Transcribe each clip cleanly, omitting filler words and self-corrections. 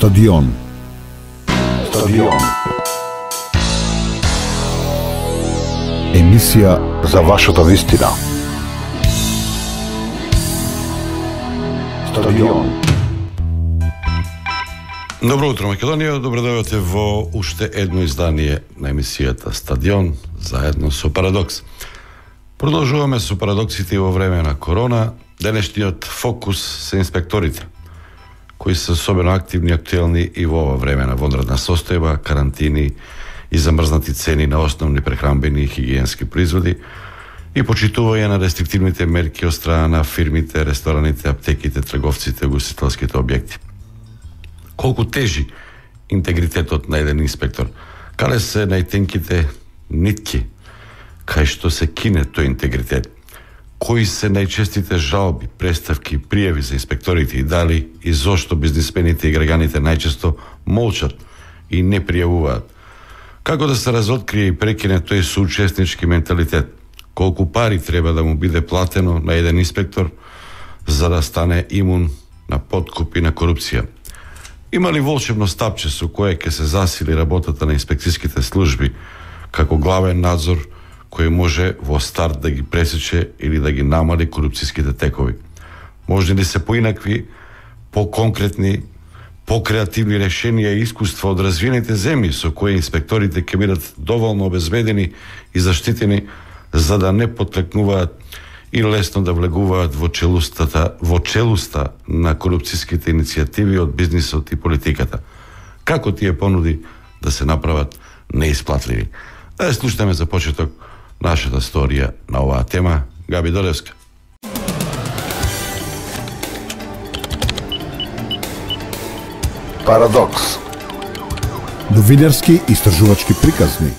Стадион. Емисија за вашата вистина. Стадион. Добро утро, Македонија. Добро дојдовте во уште едно издание на емисијата Стадион, заедно со Парадокс. Продолжуваме со парадоксите во време на корона. Денешниот фокус се инспекторите, кои се особено активни и актуелни и во ова време на вонредна состојба, карантини и замрзнати цени на основни прехранбени и хигиенски производи и почитување на рестриктивните мерки од страна на фирмите, рестораните, аптеките, трговците, угостителските објекти. Колку тежи интегритетот на еден инспектор? Каде се најтенките нитки кај што се кине тој интегритет? Кои се најчестите жалби, преставки, пријави за инспекторите и дали и зошто бизнисмените и граѓаните најчесто молчат и не пријавуваат? Како да се разоткрие и прекине тој соучеснички менталитет? Колку пари треба да му биде платено на еден инспектор за да стане имун на подкуп и на корупција? Има ли волшебно стапче со кое ќе се засили работата на инспекцијските служби како главен надзор кој може во старт да ги пресече или да ги намали корупцијските текови? Може ли се поинакви, по-конкретни, по-креативни решенија и искуства од развиените земји со кои инспекторите ќе бидат доволно обезбедени и заштитени за да не потлекнуваат и лесно да влегуваат во челуста на корупцијските иницијативи од бизнисот и политиката? Како тие понуди да се направат неисплатливи? Да слушаме за почеток нашата сторија на оваа тема. Габи Долевска. Парадокс. Новинарски истражувачки приказни.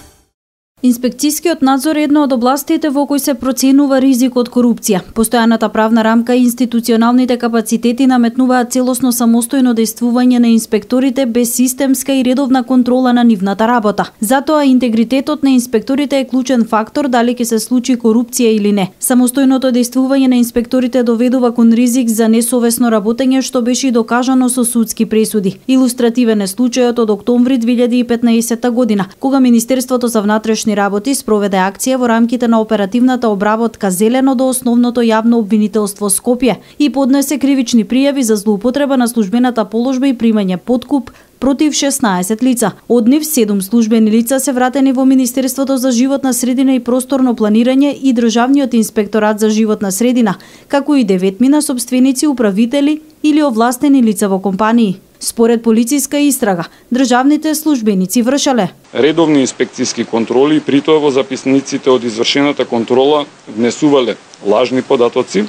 Инспекцијскиот надзор е една од областите во кои се проценува ризик од корупција. Постојаната правна рамка и институционалните капацитети наметнуваат целосно самостојно действување на инспекторите без системска и редовна контрола на нивната работа. Затоа интегритетот на инспекторите е клучен фактор дали ќе се случи корупција или не. Самостојното действување на инспекторите доведува кон ризик за несовесно работење, што беше и докажано со судски пресуди. Илустративен е случајот од октомври 2015 година, кога Министерството за внатрешни работи спроведе акција во рамките на оперативната обработка Зелено до основното јавно обвинителство Скопје и поднесе кривични пријави за злоупотреба на службената положба и примање подкуп против 16 лица. Од нив 7 службени лица се вратени во Министерството за животна средина и просторно планирање и Државниот инспекторат за животна средина, како и 9 сопственици, управители или овластени лица во компании. Според полициска истрага, државните службеници вршеле редовни инспекцијски контроли, при тоа во записниците од извршената контрола внесувале лажни податоци,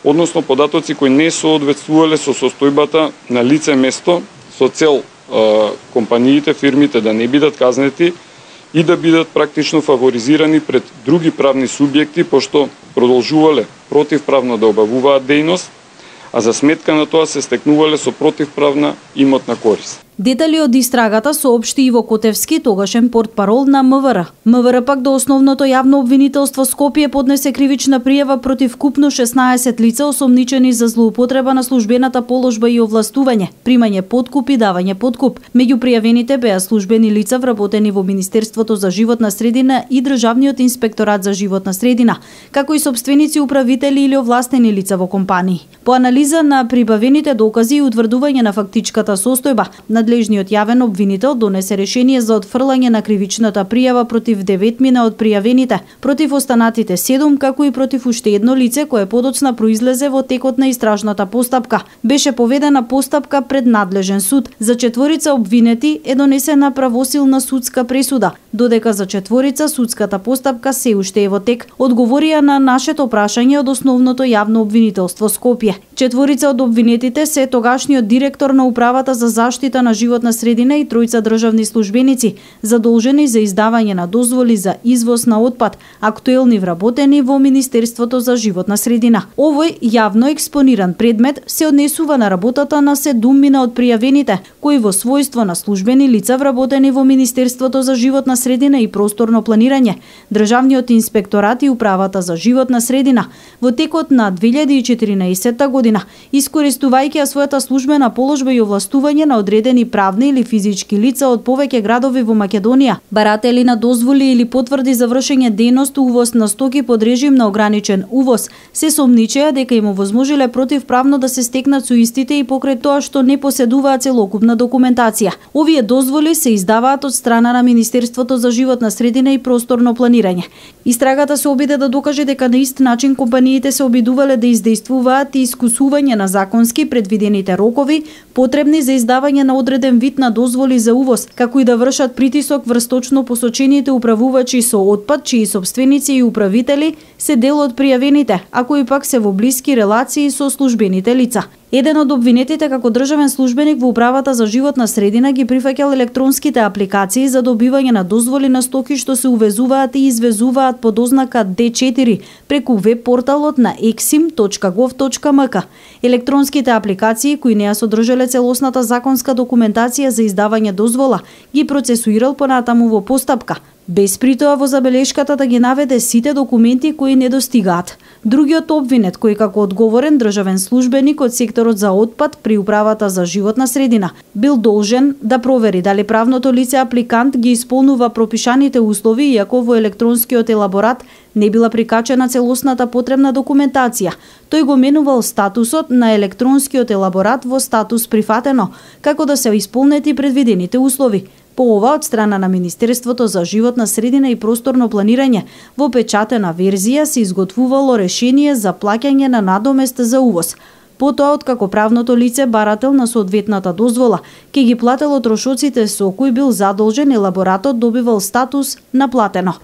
односно податоци кои не соодветствувале со состојбата на лице место со цел компаниите, фирмите да не бидат казнети и да бидат практично фаворизирани пред други правни субјекти, пошто продолжувале противправно да обавуваат дејност, а за сметка на тоа се стекнувале со противправна имотна корист. Детали од истрагата соопшти Иво Котевски, тогашен портпарол на МВР. МВР пак до основното јавно обвинителство Скопје поднесе кривична пријава против купно 16 лица осомничени за злоупотреба на службената положба и овластување, примање подкуп и давање подкуп. Меѓу пријавените беа службени лица вработени во Министерството за животна средина и Државниот инспекторат за животна средина, како и сопственици, управители или овластени лица во компании. По анализа на прибавените докази и утврдување на фактичката состојба, надлежниот јавен обвинител донесе решение за отфрлање на кривичната пријава против 9 од пријавените, против останатите 7, како и против уште едно лице кое подоцна произлезе во текот на истражната постапка. Беше поведена постапка пред надлежен суд. За 4 обвинети е донесена правосилна судска пресуда, додека за 4 судската постапка се уште е во тек, одговорија на нашето прашање од основното јавно обвинителство Скопје. 4 од обвинетите се тогашниот директор на управата за заштита на животна средина и 3 државни службеници, задолжени за издавање на дозволи за извоз на отпад, актуелни вработени во Министерството за животна средина. Овој јавно експониран предмет се однесува на работата на 7 од пријавените, кои во својство на службени лица вработени во Министерството за животна средина и просторно планирање, Државниот инспекторат и управата за животна средина во текот на 2014 година, искористувајќи својата службена положба и овластување на одредени одредени правни или физички лица од повеќе градови во Македонија, баратели на дозволи или потврди за вршење дејност увоз на стоки под режим на ограничен увоз, се сомничеа дека им овозможиле противправно да се стекнат со истите и покрај тоа што не поседуваат целокупна документација. Овие дозволи се издаваат од страна на Министерството за животна средина и просторно планирање. Истрагата се обиде да докаже дека на ист начин компаниите се обидувале да издействуваат и искусување на законски предвидените рокови потребни за издавање на одреден вид на дозволи за увоз, како и да вршат притисок врз точно посочените управувачи со отпад, чии сопственици и управители се дел од пријавените, а кои пак се во блиски релации со службените лица. Еден од обвинетите како државен службеник во управата за животна средина ги прифаќал електронските апликации за добивање на дозволи на стоки што се увезуваат и извезуваат под ознака D4 преку веб порталот на exim.gov.mk. Електронските апликации кои не ја содржале целосната законска документација за издавање дозвола ги процесуирал понатаму во постапка, без при тоа во забелешката да ги наведе сите документи кои не достигаат. Другиот обвинет, кој како одговорен државен службеник од секторот за отпад при управата за животна средина, бил должен да провери дали правното лице апликант ги исполнува пропишаните услови, иако во електронскиот елаборат не била прикачена целосната потребна документација. Тој го менувал статусот на електронскиот елаборат во статус прифатено, како да се исполнети предвидените услови. По ова, од страна на Министерството за животна средина и просторно планирање, во печатена верзија се изготвувало решение за плаќање на надомест за увоз. Потоа, откако правното лице барател на соодветната дозвола, ке ги платело трошоците со кои бил задолжен, елаборатот добивал статус наплатено.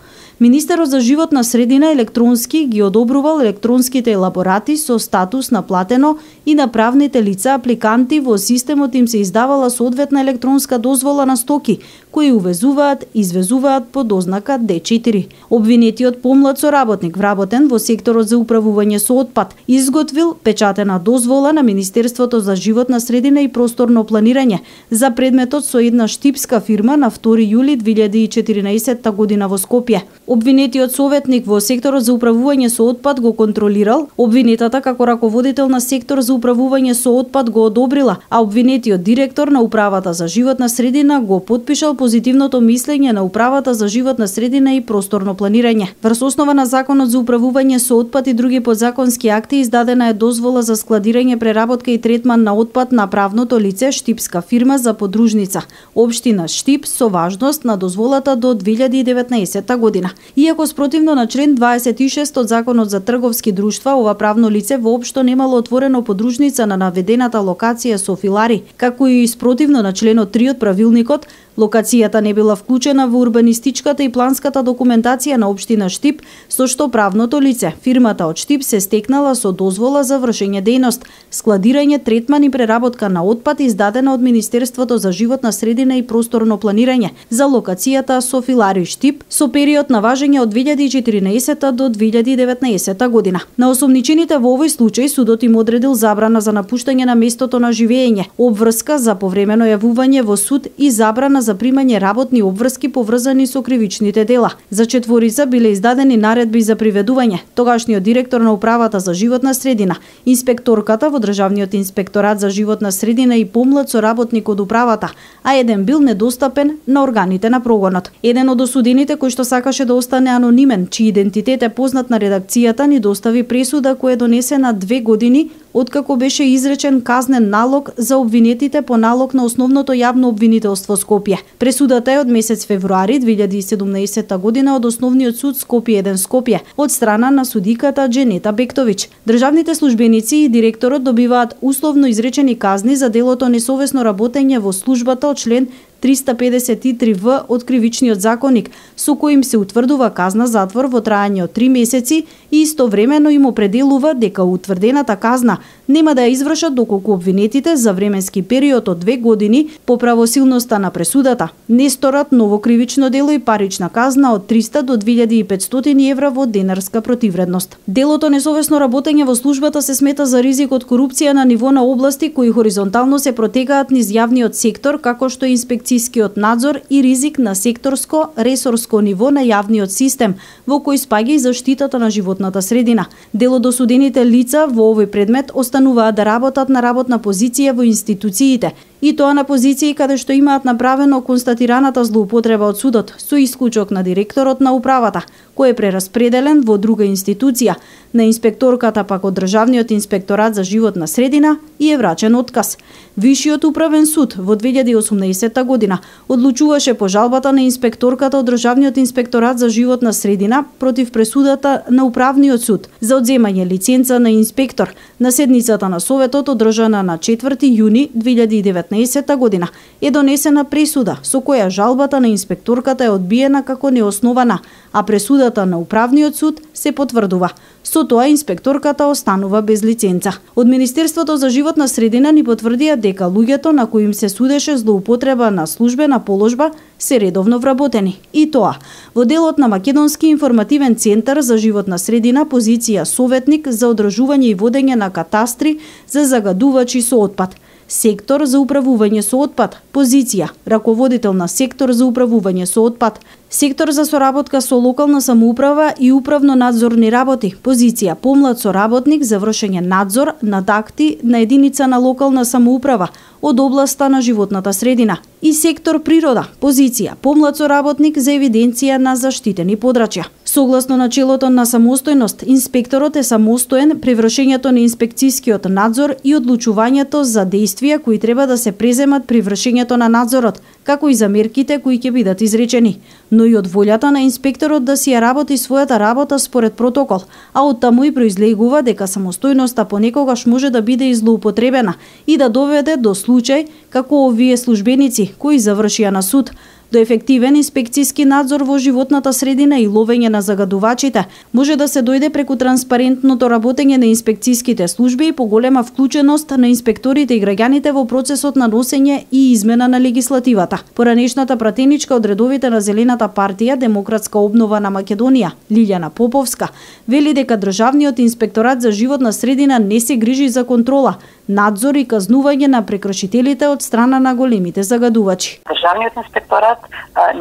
Министерот за животна средина електронски ги одобрувал електронските елаборати со статус наплатено и на правните лица апликанти во системот им се издавала соодветна електронска дозвола на стоки кои увезуваат и извезуваат под ознака D4. Обвинетиот помлад соработник вработен во секторот за управување со отпад изготвил печатена дозвола на Министерството за животна средина и просторно планирање за предметот со една штипска фирма на 2 јули 2014 година во Скопје. Обвинетиот советник во секторот за управување со отпад го контролирал, обвинетата како раководител на сектор за управување со отпад го одобрила, а обвинетиот директор на управата за животна средина го потпишал позитивното мислење на управата за животна средина и просторно планирање. Врз основа на Законот за управување со отпад и други подзаконски акти издадена е дозвола за складирање, преработка и третман на отпад на правното лице Штипска фирма за подружница, општина Штип, со важност на дозволата до 2019 година. Иако спротивно на член 26 од Законот за трговски друштва, ова правно лице воопшто немало отворено подружница на наведената локација со филари, како и спротивно на членот 3 од правилникот, локацијата не била вклучена во урбанистичката и планската документација на општина Штип, со што правното лице, фирмата од Штип, се стекнала со дозвола за вршење дејност, складирање, третман и преработка на отпад издадена од Министерството за животна средина и просторно планирање за локацијата со филари Штип со период на важење од 2014 до 2019 година. На осомничените во овој случај судот им одредил забрана за напуштање на местото на живење, обврска за повремено јавување во суд и забрана за примање работни обврски поврзани со кривичните дела. За четворица биле издадени наредби за приведување. Тогашниот директор на управата за животна средина, инспекторката во Државниот инспекторат за животна средина и помлад соработник од управата, а еден бил недостапен на органите на прогонот. Еден од осудените кој што сакаше да остане анонимен, чиј идентитет е познат на редакцијата, ни достави пресуда која е донесена 2 години откако беше изречен казнен налог за обвинетите по налог на Основното јавно обвинителство Скопје. Пресудата е од месец февруари 2017 година од Основниот суд Скопје 1 Скопје од страна на судиката Дженета Бектовиќ. Државните службеници и директорот добиваат условно изречени казни за делото несовесно работење во службата од член 353В од Кривичниот законник, со кој им се утврдува казна затвор во траење од 3 месеци и истовремено им определува дека утврдената казна нема да ја извршат доколку обвинетите за временски период од 2 години по правосилноста на пресудата не сторат ново кривично дело и парична казна од 300 до 2500 евра во денарска противредност. Делото несовесно работење во службата се смета за ризик од корупција на ниво на области кои хоризонтално се протегаат низ јавниот сектор, како што е инспекцијскиот надзор и ризик на секторско, ресорско ниво на јавниот систем, во кој спаѓа и заштитата на животната средина. Дел од осудените лица во овој предмет остануваат да работат на работна позиција во институциите и тоа на позиции каде што имаат направено констатираната злоупотреба од судот, со исклучок на директорот на управата, кој е прераспределен во друга институција, на инспекторката пак од Државниот инспекторат за животна средина и е врачен отказ. Вишиот управен суд во 2018 година одлучуваше по жалбата на инспекторката од Државниот инспекторат за животна средина против пресудата на управниот суд за одземање лиценца на инспектор на седницата на Советот одржана на 4 јуни 2019 година е донесена пресуда со која жалбата на инспекторката е одбиена како неоснована, а пресудата на управниот суд се потврдува. Со тоа инспекторката останува без лиценца. Од Министерството за животна средина ни потврдија дека луѓето на кои им се судеше злоупотреба на службена положба се редовно вработени. И тоа, во делот на Македонски информативен центар за животна средина, позиција советник за одржување и водење на катастри за загадувачи со отпад. Сектор за управување со отпад, позиција раководител на сектор за управување со отпад. Сектор за соработка со локална самоуправа и управно-надзорни работи, позиција помлад соработник за вршење надзор над акти на единица на локална самоуправа од областа на животната средина. И сектор природа, позиција помлад соработник за евиденција на заштитени подрачја. Согласно начелото на самостојност, инспекторот е самостоен при вршењето на инспекцијскиот надзор и одлучувањето за действија кои треба да се преземат при вршењето на надзорот, како и за мерките кои ќе бидат изречени, но и од волјата на инспекторот да си ја работи својата работа според протокол, а од таму и произлегува дека самостојноста понекогаш може да биде злоупотребена и да доведе до случај како овие службеници кои завршија на суд, до ефективен инспекцијски надзор во животната средина и ловење на загадувачите може да се дојде преку транспарентното работење на инспекцијските служби и поголема вклученост на инспекторите и граѓаните во процесот на носење и измена на легислативата. Поранешната пратеничка од редовите на Зелената партија Демократска обнова на Македонија, Лилјана Поповска, вели дека Државниот инспекторат за животна средина не се грижи за контрола, надзор и казнување на прекршителите од страна на големите загадувачи. Државниот инспекторат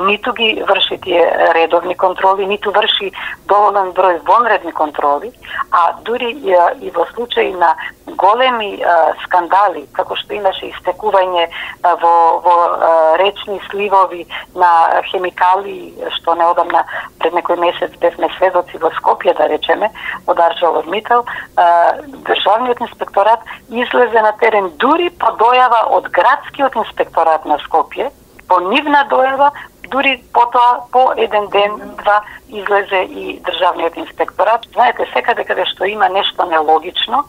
ниту ги врши тие редовни контроли, ниту врши доволен број вонредни контроли, а дури и во случај на големи скандали, како што имаше истекување во речни сливови на хемикали, што неодамна пред некој месец бевме сведоци во Скопје, да речеме, од ArcelorMittal, Државниот инспекторат излезе на терен дури по дојава од градскиот инспекторат на Скопје, по нивна дојава, дури потоа по еден ден, два, излезе и Државниот инспекторат. Знаете, секаде каде што има нешто нелогично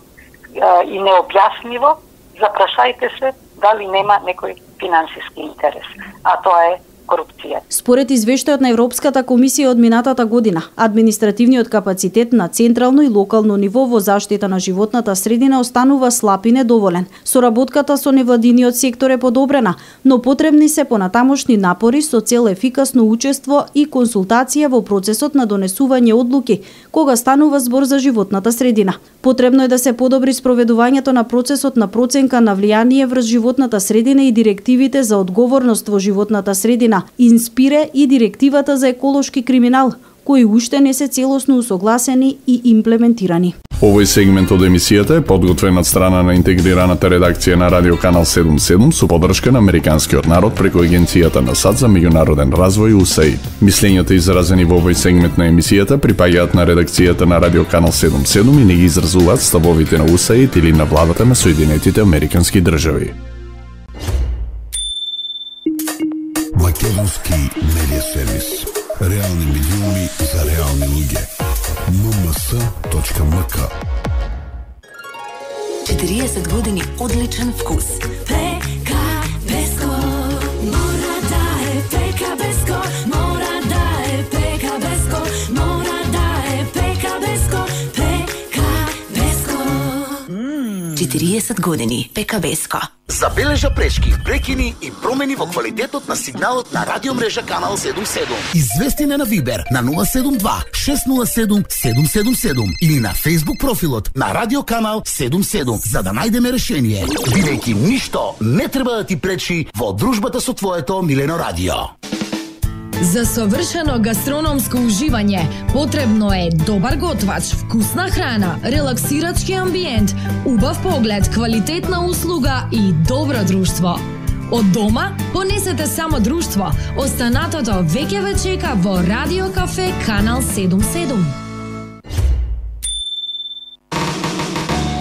и необјаснливо, запрашајте се дали нема некој финансиски интерес. А тоа е корупција. Според извештајот на Европската комисија од минатата година, административниот капацитет на централно и локално ниво во заштита на животната средина останува слаб и недоволен. Соработката со невладиниот сектор е подобрена, но потребни се понатамошни напори со цел ефикасно учество и консултација во процесот на донесување одлуки кога станува збор за животната средина. Потребно е да се подобри спроведувањето на процесот на проценка на влијание врз животната средина и директивите за одговорност во животната средина, Инспире и директивата за еколошки криминал, кои уште не се целосно усогласени и имплементирани. Овој сегмент од емисијата е подготвен од страна на интегрираната редакција на Радио Канал 77 со поддршка на Американскиот народ преку Агенцијата на САД за меѓународен развој USAID. Мислењата изразени во овој сегмент на емисијата припаѓаат на редакцијата на Радио Канал 77 и не ги изразуваат ставовите на USAID или на владата на Соединетите Американски држави. Македонски медиа сервис. Реални медиуми за реални луѓе. mms.mk 40 години одличен вкус. ПК Беско мора да е ПК Беско, мора да е ПК Беско, мора да е ПК Беско, ПК Беско. 40 години ПК Беско. Забележа пречки, прекини и промени во квалитетот на сигналот на радиомрежа Канал 77. Извести на Вибер на 072 607 777 или на Facebook профилот на Радио Канал 77 за да најдеме решение. Бидејќи ништо не треба да ти пречи во дружбата со твоето милено радио. За совршено гастрономско уживање потребно е добар готвач, вкусна храна, релаксирачки амбиент, убав поглед, квалитетна услуга и добро друштво. Од дома понесете само друштво. Останатото веќе ве чека во Радио Кафе Канал 77.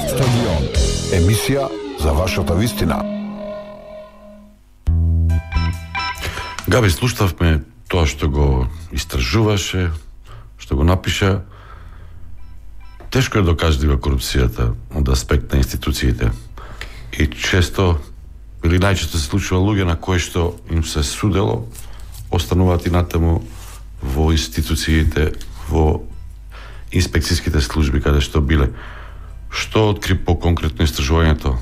Стадион. Емисија за вашата вистина. Габи, слушавме тоа што го истражуваше, што го напиша. Тешко е докажлива корупцијата од аспект на институциите. И често, или најчесто се случува луѓе на кои што им се судело, остануваат и натаму во институциите, во инспекцијските служби каде што биле. Што откри по конкретно истражувањето?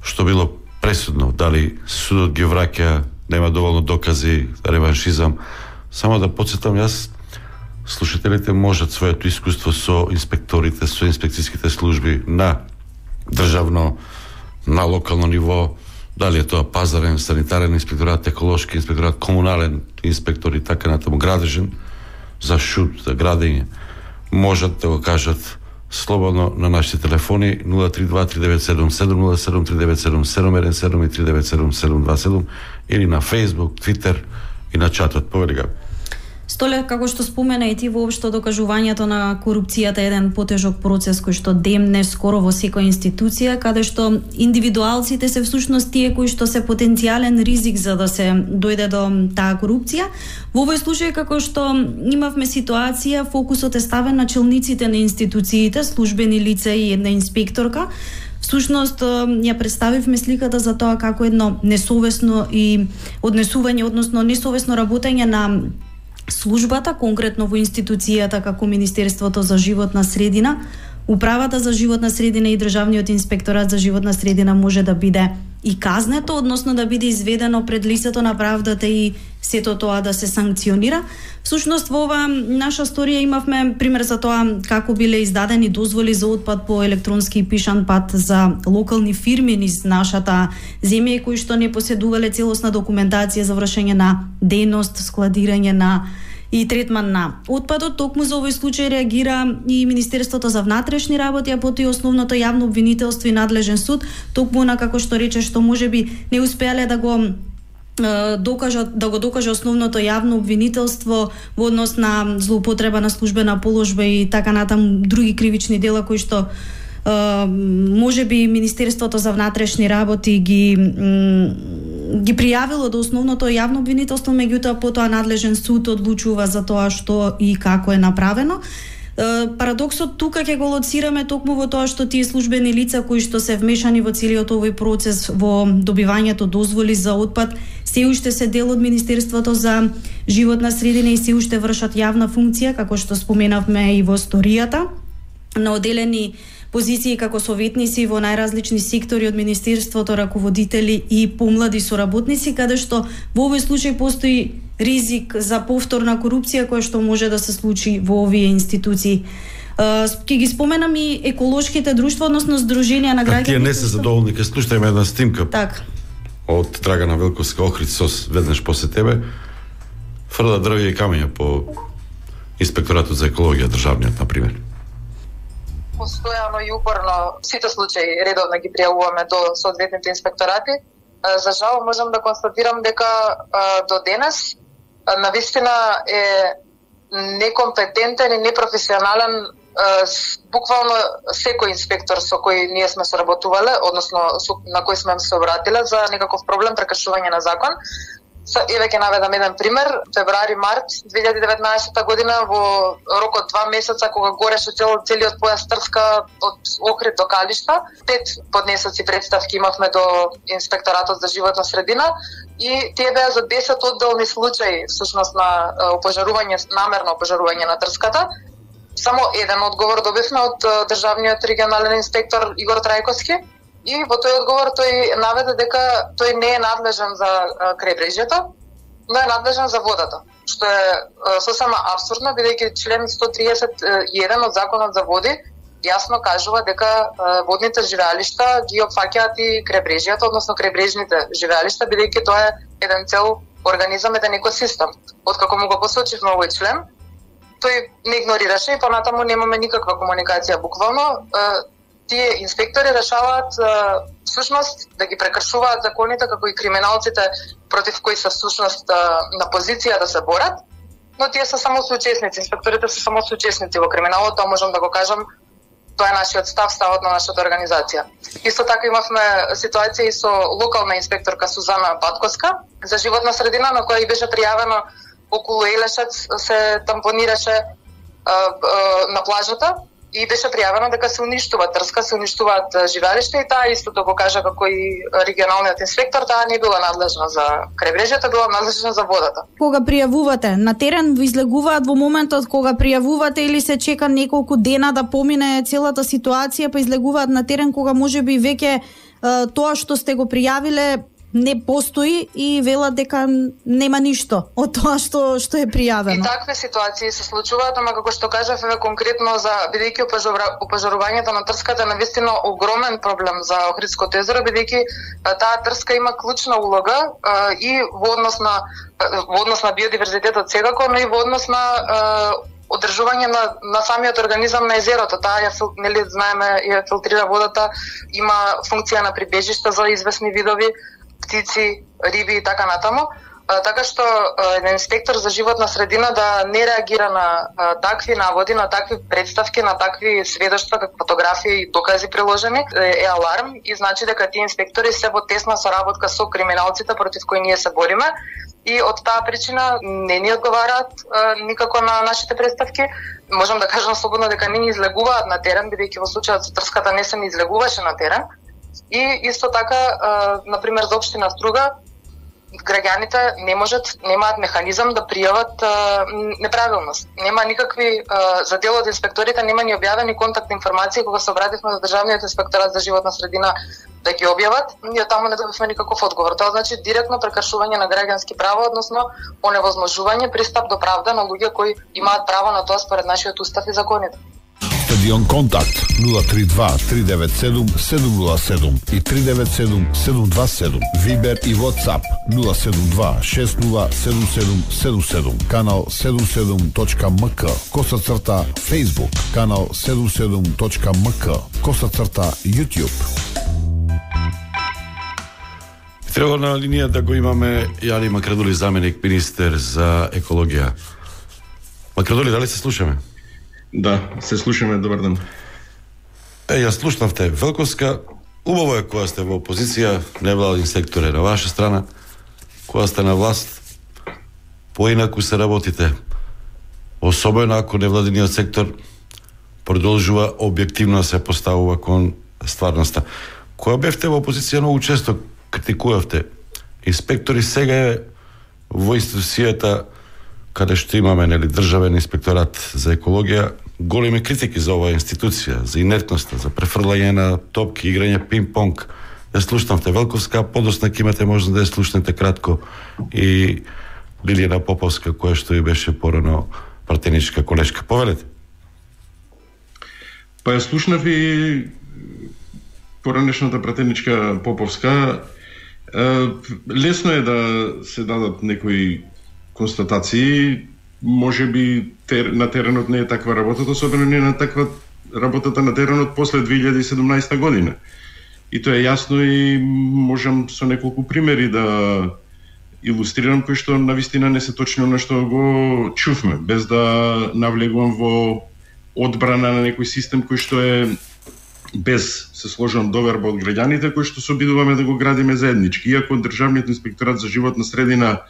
Што било пресудно? Дали судот ги враќа, нема доволно докази, реваншизам? Само да подсетам, јас, слушателите можат своето искуство со инспекторите, со инспекцијските служби на државно, на локално ниво, дали е тоа пазарен, санитарен инспекторат, еколошки инспекторат, комунален инспектор и така натаму, градежен, за шут, за градење, можат да го кажат слободно на нашите телефони 032-3977, 073977 и 397727 или на Facebook, Twitter и на чатот. Повели Габи. Столе, како што спомена и ти, воопшто докажувањето на корупцијата е еден потежок процес кој што демне скоро во секоја институција, каде што индивидуалците се всушност тие кои што се потенцијален ризик за да се дојде до таа корупција. Во овој случај, како што имавме ситуација, фокусот е ставен на челниците на институциите, службени лица и една инспекторка. Всушност, ја представивме сликата за тоа како едно несовесно и однесување, односно несовесно работење на службата, конкретно во институцијата како Министерството за животна средина, Управата за животна средина и Државниот инспекторат за животна средина може да биде и казнето, односно да биде изведено пред лицето на правдата и сето тоа да се санкционира. Всушност, во ова наша сторија имавме пример за тоа како биле издадени дозволи за отпад по електронски и пишан пат за локални фирми низ нашата земја кои што не поседувале целосна документација за вршење на дејност, складирање на и третман на отпадот. Токму за овој случај реагира и Министерството за внатрешни работи, а потоа и основното јавно обвинителство и надлежен суд, токму на како што рече што можеби не успеале да го докаже основното јавно обвинителство во однос на злоупотреба на службена положба и така натаму други кривични дела кои што можеби Министерството за внатрешни работи ги пријавило до основното јавно обвинителство, меѓутоа потоа надлежен суд одлучува за тоа што и како е направено. Парадоксот тука ќе го лоцираме токму во тоа што тие службени лица кои што се вмешани во целиот овој процес во добивањето дозволи за отпад се уште се дел од Министерството за животна средина и се уште вршат јавна функција, како што споменавме и во историјата, на оделени позиции како советници во најразлични сектори од Министерството, раководители и помлади соработници, каде што во овој случај постои ризик за повторна корупција која што може да се случи во овие институции. Ќе ги споменам и еколошките друштва, односно здруженија на граѓани. Тие не се задоволни, ќе слушајме една снимка. Так. Од Драгана Велковска, Охрид Сос, веднаш после тебе, фрла дрвја и камења по инспекторатот за екологија државниот, например. Постојано и упорно сите случаи редовно ги пријавуваме до соодветните инспекторати. За жал можам да констатирам дека до денес навистина е некомпетентен и непрофесионален буквално секој инспектор со кој ние сме соработувале, односно на кој сме се обратиле за некаков проблем прекршување на закон. Еве ќе наведам еден пример. Февруари-март 2019 година во рок од 2 месеца кога гореше целиот појас Трска од Охрид до Калишта, 5 поднесоци представки имавме до инспекторатот за животна средина и тие беа за 10 одделни случаи всушност на опожарување, намерно опожарување на Трската. Само еден одговор добивме од државниот регионален инспектор Игор Трајковски. И во тој одговор тој наведе дека тој не е надлежен за крајбрежјето, но е надлежен за водата, што е сосема абсурдно, бидејќи член 131 од Законот за води јасно кажува дека водните живеалишта ги опфаќаат и крајбрежјето, односно крајбрежните живеалишта, бидејќи тоа е еден цел организам, еден екосистем. Откако му го посочивме овој член, тој не игнорираше и понатаму немаме никаква комуникација буквално. тие инспектори решаваат всушност да ги прекршуваат законите како и криминалците против кои се всушност на позиција да се борат, но тие се само соучесници, инспекторите се само соучесници во криминалот, тоа можам да го кажам. Тоа е нашиот ставот на нашата организација. Исто така имавме ситуација и со локална инспекторка Сузана Батковска за животна средина, на која и беше пријавено околу Елешец се тампонираше на плажата и беше пријавено дека се уништува трска, се уништуваат живеалишта и таа истото го кажа како и регионалниот инспектор, таа не била надлежна за крајбрежјето, била надлежна за водата. Кога пријавувате, на терен ви излегуваат во моментот кога пријавувате или се чека неколку дена да помине целата ситуација, па излегуваат на терен кога можеби веќе тоа што сте го пријавиле не постои и велат дека нема ништо од тоа што е пријавено. И такви ситуации се случуваат, ама како што кажав, конкретно за бидејќи опожарувањето на трската е навистина огромен проблем за Охридското езеро, бидејќи таа трска има клучна улога и во однос на биодиверзитетот секако, но и во однос на одржување на самиот организам на езерото. Таа нели знаеме ја филтрира водата, има функција на прибежишта за известни видови птици, риби и така натаму. Така што еден инспектор за животна средина да не реагира на такви наводи, на такви представки, на такви сведоштва, како фотографии и докази приложени, е аларм и значи дека тие инспектори се во тесна соработка со криминалците против кои ние се бориме и од таа причина не ни одговараат никако на нашите представки. Можам да кажам слободно дека не ни излегуваат на терен, бидејќи во случајот со трската не се ни излегуваше на терен. И исто така, например, за општина Струга, граѓаните немаат механизам да пријават неправилност. Нема никакви, за дел од инспекторите нема ни објавени контактни информации, кога се обративме до Државниот инспекторат за животна средина да ги објават, ние таму не добивме никаков одговор. Тоа значи директно прекршување на граѓански права, односно оневозможување пристап до правда на луѓе кои имаат право на тоа според нашиот устав и законите. Стадион Контакт 032-397-707 и 397-727. Вибер и WhatsApp 072-607777. Канал 77.mk. / Facebook. Канал 77.mk. / YouTube. Треба на линија да го имаме Јани Макрадули, заменик министер за екологија. Макрадули, дали се слушаме? Да, се слушаме, добар ден. Ја слушнавте Велковска, убаво е кога сте во опозиција, невладин сектор е на ваша страна, кога сте на власт, поинаку се работите. Особено ако невладиниот сектор продолжува објективно да се поставува кон стварноста. Кога бевте во опозиција, многу често критикувавте инспектори, сега е во институцијата каде што имаме државен инспекторат за екологија, големи критики за оваа институција, за инертноста, за префрлање на топки, играње пинг-понг. Ја слушнавте Велковска, подосна ќе имате можност да ја слушнете кратко и Лилијана Поповска, која што и беше порано пратеничка колешка. Повелете. Па ја слушнав и поранешната пратеничка Поповска. Лесно е да се дадат некои констатации, може би на теренот не е таква работата, особено не е на таква работата на теренот после 2017 година. И тоа е јасно и можам со неколку примери да илустрирам кои што навистина не се точно на што го чувме, без да навлегувам во одбрана на некој систем кој што е без се сложен доверба од граѓаните, кој што се обидуваме да го градиме заеднички. Иако Државниот инспекторат за животна средина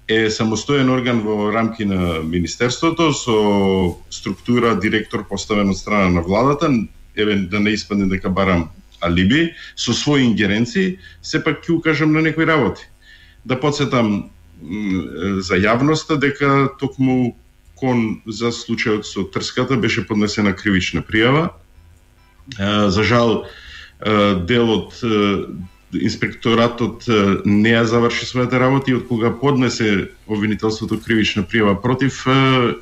е самостоен орган во рамки на Министерството, со структура директор поставен од страна на владата, да не испадне дека барам алиби, со своји ингеренции, сепак ќе укажам на некои работи. Да подсетам за јавноста дека токму кон за случајот со трската беше поднесена кривична пријава. За жал, дел од инспекторатот не ја заврши својата работа и од кога поднесе обвинителството кривична пријава против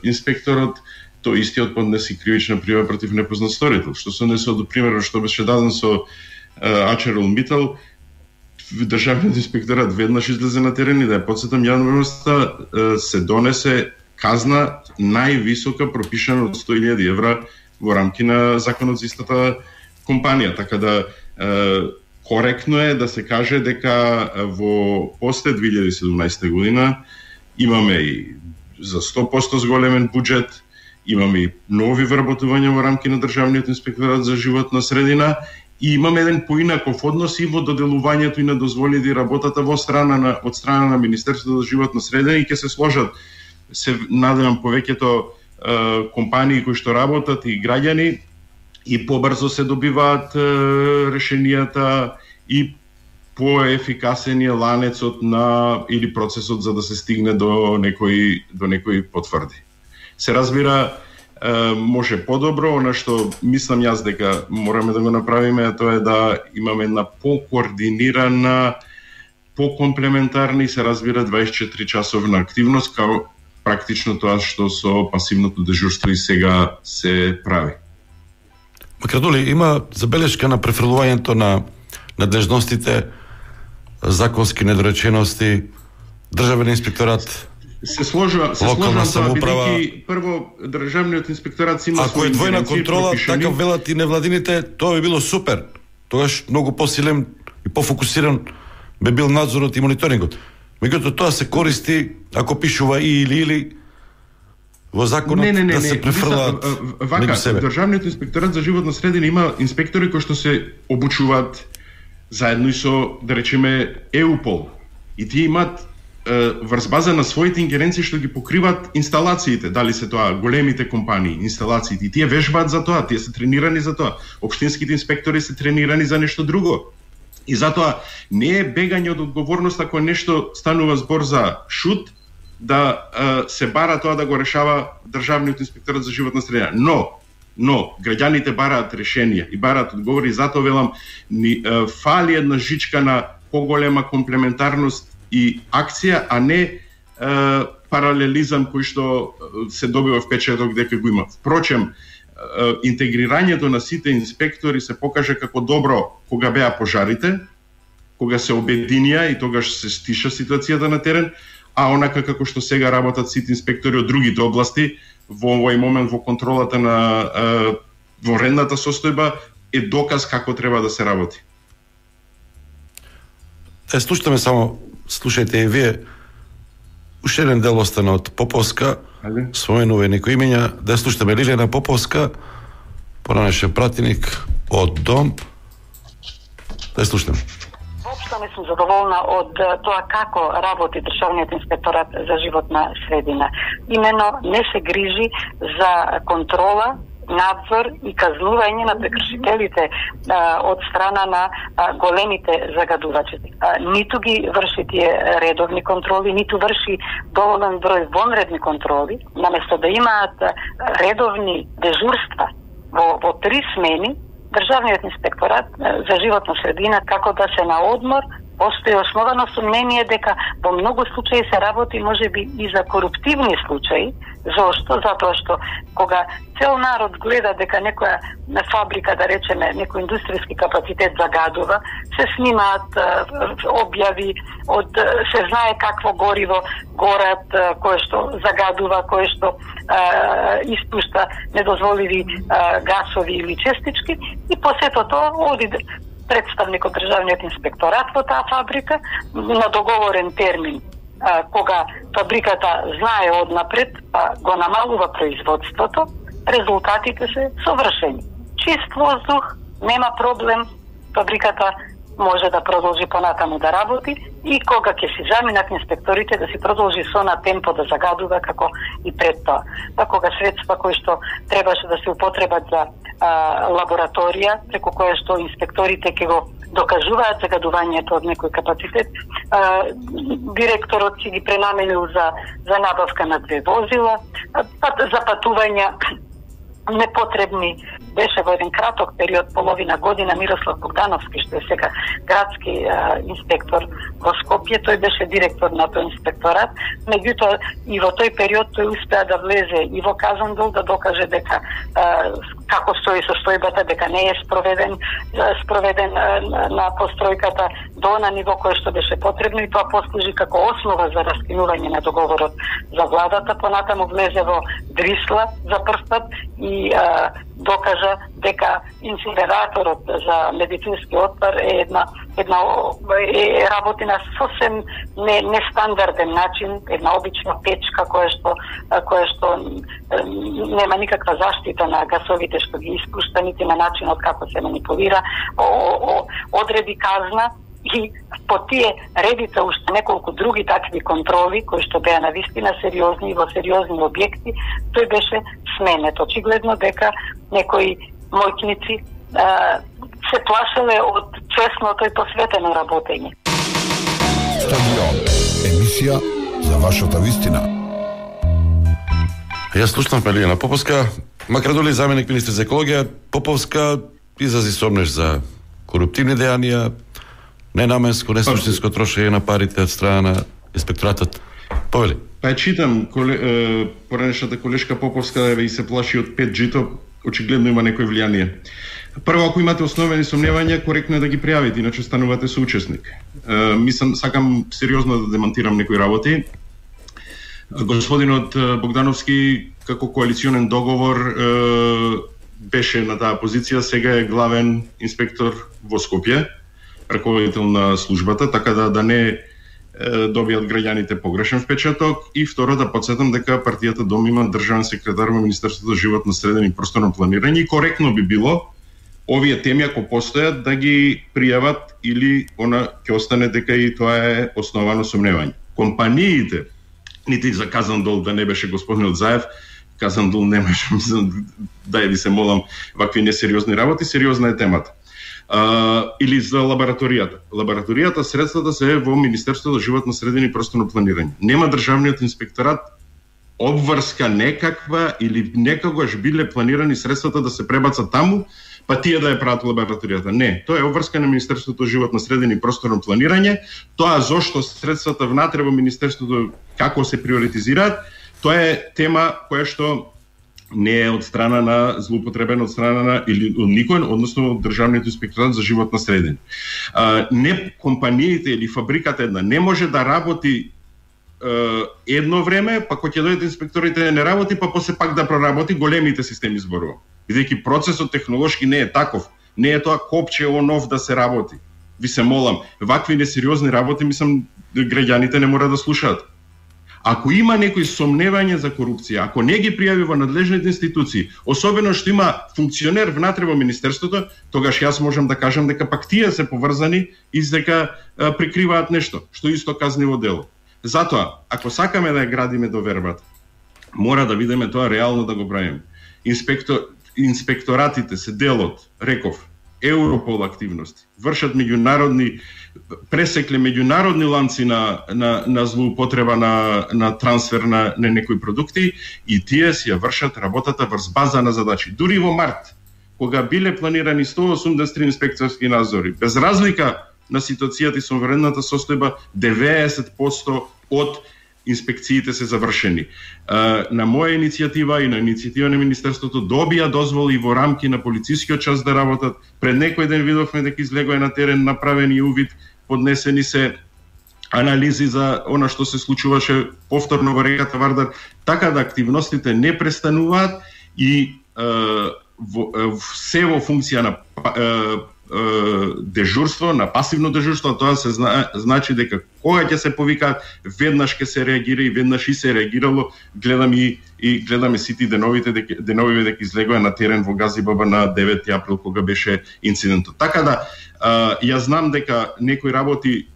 инспекторот, тој истиот поднесе кривична пријава против непознат сторител. Што се однесува до примерот што беше даден со Ачерол Митал, Државниот инспекторат веднаш излезе на терен и да ја подсетам јавноста, се донесе казна највисока пропишана од 100.000 евра во рамки на законот за истата компанија, така да коректно е да се каже дека во после 2017 година имаме и за 100% зголемен буџет, имаме и нови вработувања во рамки на Државниот инспекторат за животна средина и имаме еден поинаков однос и во доделувањето и на дозволите и работата од страна на Министерството за животна средина и ќе се сложат, се надевам, повеќето компании кои што работат и граѓани и побрзо се добиваат решенијата и поефикасен е ланецот на или процесот за да се стигне до некои потврди. Се разбира, може подобро, она што мислам јас дека мораме да го направиме, тоа е да имаме една покоординирана, покомплементарна и се разбира 24 часовна активност, као практично тоа што со пасивното дежурство и сега се прави. Макрадули, има забелешка на префрлувањето на надлежностите, законски недоречености, Државен инспекторат, се сложува тоа, бидејќи прво Државниот инспекторат има ако е двојна контрола, така велат и невладините, тоа би било супер. Тогаш многу посилен и пофокусиран би бил надзорот и мониторингот. Меѓутоа тоа се користи ако пишува и или во законот да се префрлаат меѓу себе. Државниот инспекторат за животна средина има инспектори кои што се обучуваат заедно и со, да речеме, ЕУПОЛ. И тие имаат врз база на своите ингеренции што ги покриваат инсталациите, дали се тоа големите компании, инсталациите, и тие вежбаат за тоа, тие се тренирани за тоа. Општинските инспектори се тренирани за нешто друго. И затоа не е бегање од одговорност ако нешто станува збор за шут, да се бара тоа да го решава Државниот инспекторат за животна средина. Но граѓаните бараат решенија и бараат одговори, затоа велам фали една жичка на поголема комплементарност и акција, а не паралелизам кој што се добива впечаток дека го има. Впрочем, интегрирањето на сите инспектори се покаже како добро кога беа пожарите, кога се обединија и тогаш се стиша ситуацијата на терен, а онака како што сега работат сите инспектори од другите области, во овој момент во контролата на воредната состојба е доказ како треба да се работи. Слушаме само, слушајте и вие, уште еден дел остана од Поповска, споменува некои имења, да слушаме Лилијана Поповска, поранешен пратеник од Дом, да слушаме. Воопшто не сум задоволна од тоа како работи Државниот инспекторат за животна средина. Имено не се грижи за контрола, надзор и казнување на прекршителите од страна на големите загадувачи. Ниту ги врши тие редовни контроли, ниту врши доволен број вонредни контроли, наместо да имаат редовни дежурства во 3 смени. Државниот инспекторат за животна средина, како да се на одмор, постои основано сомнение дека во многу случаи се работи можеби и за коруптивни случаи. Зошто? Затоа што кога цел народ гледа дека некоја фабрика, да речеме, некој индустријски капацитет загадува, се снимаат објави од се знае какво гориво горат, кое што загадува, кое што испушта недозволиви гасови или честички, и после тоа оди представник од Државниот инспекторат во таа фабрика на договорен термин, кога фабриката знае однапред, па го намалува производството, резултатите се совршени. Чист воздух, нема проблем, фабриката може да продолжи понатаму да работи и кога ќе си заминат инспекторите да си продолжи со на темпо да загадува како и пред тоа. Па кога средства кои што требаше да се употребат за лабораторија, преку која што инспекторите ќе го докажуваат загадувањето од некој капацитет, директорот си ги пренаменил за набавка на 2 возила, за патувања непотребни. Беше во еден краток период, половина година, Мирослав Богдановски, што е сега градски инспектор во Скопје, тој беше директор на тој инспекторат, меѓутоа и во тој период тој успеа да влезе и во Казандол, да докаже дека како стои состојбата, дека не е спроведен на постројката до на ниво кое што беше потребно, и тоа послужи како основа за раскинување на договорот за владата. Понатаму влезе во Дрисла за прв пат и докажа дека инсинераторот за медицински отпад е работи на сосем нестандарден начин, една обична печка која што нема никаква заштита на гасовите што ги испушта, нити на начинот како се манипулира, одреди казна. И по тие редица уште неколку други такви контроли кои што беа навистина сериозни и во сериозни објекти, тој беше сменет. Очигледно дека некои мојкници се плашеле од честното и посветено работење. Стадион. Емисија за вашата вистина. Јас слушнав Лиљана Поповска, макар доли заменик министр за екологија, Поповска изрази сомнеж за коруптивни дејанија, ненаменско, несуштинско трошење на парите од страна на инспекторатот. Повели. Па читам, поранешната колешка Поповска и се плаши од 5G-то, очигледно има некој влијание. Прво, ако имате основени сомневања, коректно е да ги пријавите, иначе станувате соучесник. Сакам сериозно да демонтирам некои работи. Господинот Богдановски, како коалиционен договор, беше на таа позиција, сега е главен инспектор во Скопје, раководител на службата, така да не добијат граѓаните погрешен впечаток. И второ, да подсетам дека партијата Дом има државен секретар во Министерството за животна средина и просторно планирање и коректно би било овие теми, ако постојат, да ги пријават или ќе остане дека и тоа е основано сомневање. Компаниите, нити за казан дол да не беше господинот Заев, казан дол немаше, да ви се молам, вакви несериозни работи, сериозна е темата. Или за лабораторијата. Лабораторијата, средствата се во Министерството за животна средина и просторно планирање. Нема државниот инспекторат обврска некаква или некогаш биле планирани средствата да се пребацат таму, па тие да ја прават лабораторијата. Не, тоа е обврска на Министерството за животна средина и просторно планирање. Тоа зошто средствата внатре во Министерството како се приоритизираат, тоа е тема која што не е од страна на злоупотребен од страна на или од никој, односно од Државниот инспекторат за животна средина. Не компаниите или фабриката една не може да работи едно време, па кога ќе дојдат инспекторите не работи, па после пак да проработи, големите системи зборува. Бидејќи процесот технолошки не е таков, не е тоа копче он-оф да се работи. Ви се молам, вакви несериозни работи, мислам, граѓаните не мора да слушаат. Ако има некои сомневање за корупција, ако не ги пријави во надлежните институции, особено што има функционер внатре во Министерството, тогаш јас можам да кажам дека пак тие се поврзани и дека прикриваат нешто, што исто казниво дело. Затоа, ако сакаме да ја градиме довербата, мора да видиме тоа реално да го правиме. Инспекторатите се делот, реков, Европол активности, вршат пресекле меѓународни ланци на злоупотреба на трансфер на некои продукти и тие си ја вршат работата врз база на задачи. Дури во март, кога биле планирани 183 инспекторски надзори, без разлика на ситуацијата и сонвредната состојба, 90% од инспекциите се завршени. На моја иницијатива и на иницијатива на Министерството добија дозволи во рамки на полицискиот час да работат. Пред некој ден видовме дека излегоа на терен направени увид, поднесени се анализи за она што се случуваше повторно во реката Вардар, така да активностите не престануваат и се во функција на дежурство, на пасивно дежурство, тоа се значи дека кога ќе се повикаат, веднаш ќе се реагира и веднаш и се реагирало. Гледаме сите деновите дека излегоа на терен во Газибаба на 9 април кога беше инцидентот. Така да ја знам дека некои работи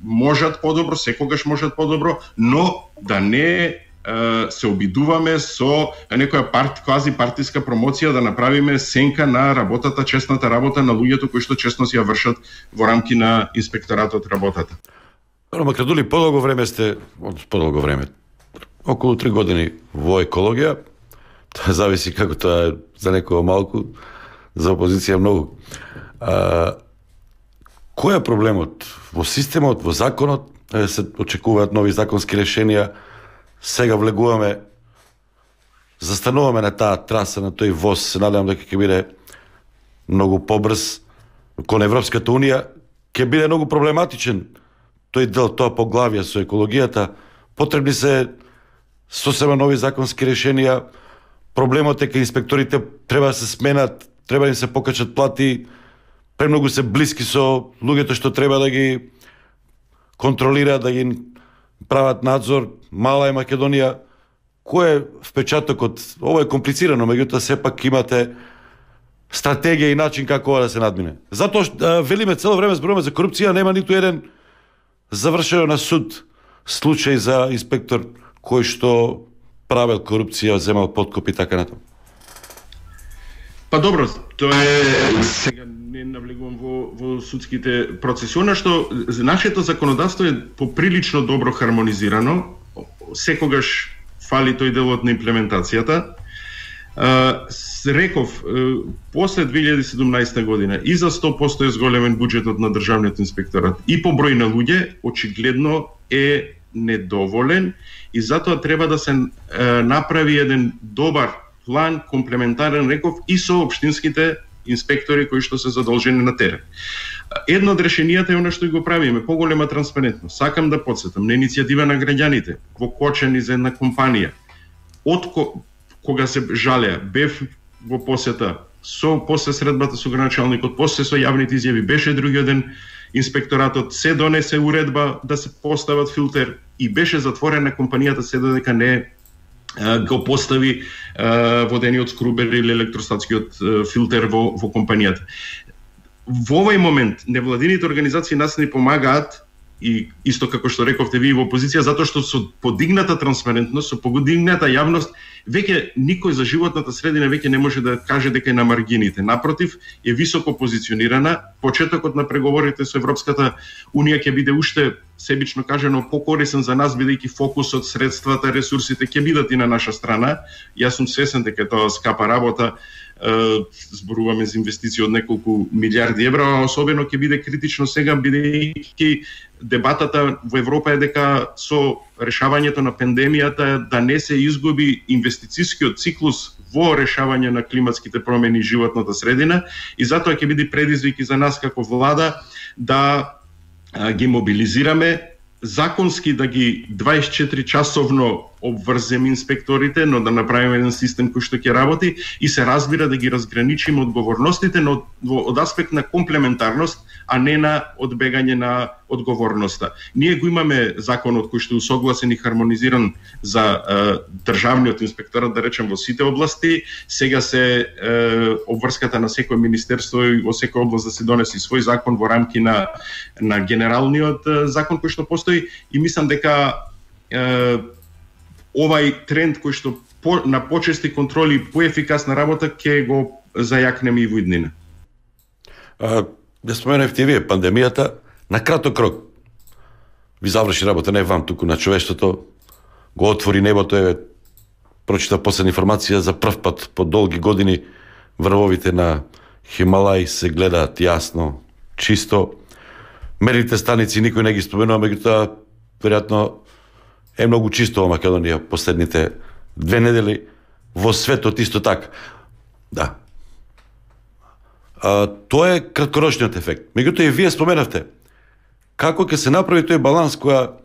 можат подобро, секогаш можат подобро, но да не се обидуваме со некоја квази партиска промоција да направиме сенка на работата, честната работа на луѓето кои што честно си ја вршат во рамки на инспекторатот работата. Макар дули подолго време сте, околу 3 години во екологија, тоа зависи како тоа е за некој малку, за опозиција многу. Кој е проблемот во системот, во законот, се очекуваат нови законски решенија? Сега влегуваме, застануваме на таа траса, на тој воз, се надевам дека ќе биде многу побрз кон Европската Унија, ќе биде многу проблематичен тој дел, тоа поглавје со екологијата. Потребни се сосема нови законски решенија, проблемот е кај инспекторите треба да се сменат, треба да им се покачат плати, премногу се блиски со луѓето што треба да ги контролираат, да ги прават надзор. Мала е Македонија. Кој е впечатокот? Ова е комплицирано, меѓутоа сепак имате стратегија и начин како да се надмине. Затоа што велиме цело време зборуваме за корупција, нема ниту еден завршено на суд случај за инспектор кој што правел корупција, земал подкуп и така натаму. Па добро, тоа е, сега не навлегувам во судските процеси. Она што нашето законодавство е поприлично добро хармонизирано, секогаш фали тој делот на имплементацијата. Реков, после 2017 година и за 100% е зголемен буџетот на Државниот инспекторат и по број на луѓе, очигледно е недоволен и затоа треба да се направи еден добар план, комплементарен, реков, и со општинските инспектори кои што се задолжени на терен. Едно од решенијата е она што го правиме, поголема транспарентност. Сакам да потсетам на иницијатива на граѓаните, во Кочани за една компанија. Кога се жалеа, бев во посета, после средбата со граначалникот, после со јавните изјави, беше другиот ден инспекторатот, се донесе уредба да се постават филтер и беше затворена компанијата се додека не го постави водениот скрубер или електростатскиот филтер во компанијата. Во овој момент невладините организации нас не помагаат, и исто како што рековте ви во опозиција, затоа што со подигната транспарентност, со подигната јавност, веќе никој за животната средина веќе не може да каже дека е на маргините. Напротив, е високо позиционирана. Почетокот на преговорите со Европската Унија ќе биде уште, себично кажано, покорисен за нас, бидејќи фокусот, средствата, ресурсите ќе бидат и на наша страна. Јас сум свесен дека тоа скапа работа, зборуваме за инвестиции од неколку милиарди евра, а особено ќе биде критично сега, бидејќи дебатата во Европа е дека со решавањето на пандемијата да не се изгуби инвестицискиот циклус во решавање на климатските промени и животната средина, и затоа ќе биде предизвик и за нас како влада да ги мобилизираме, законски да ги 24 часовно обврземе инспекторите, но да направиме еден систем кој што ќе работи и се разбира да ги разграничиме одговорностите, но од аспект на комплементарност, а не на одбегање на одговорноста. Ние го имаме законот кој што е усогласен и хармонизиран за државниот инспекторат, да речем, во сите области. Сега се обврската на секој министерство и во секој област да се донеси свој закон во рамки на генералниот закон кој што постои, и мислам дека овај тренд кој што на почести контроли и поефикасна работа ќе го зајакнеме и во иднина. Да споменавте вие пандемијата, на краток рок ви заврши работа не вам, туку на човештвото, го отвори небото, прочитав последна информација, за прв пат по долги години врвовите на Хималај се гледаат јасно, чисто. Мерните станици никој не ги споменува, меѓутоа веројатно е многу чисто во Македонија последните 2 недели, во светот исто така. Да. Тоа е краткорочниот ефект. Меѓутоа и вие споменавте како ќе се направи тој баланс која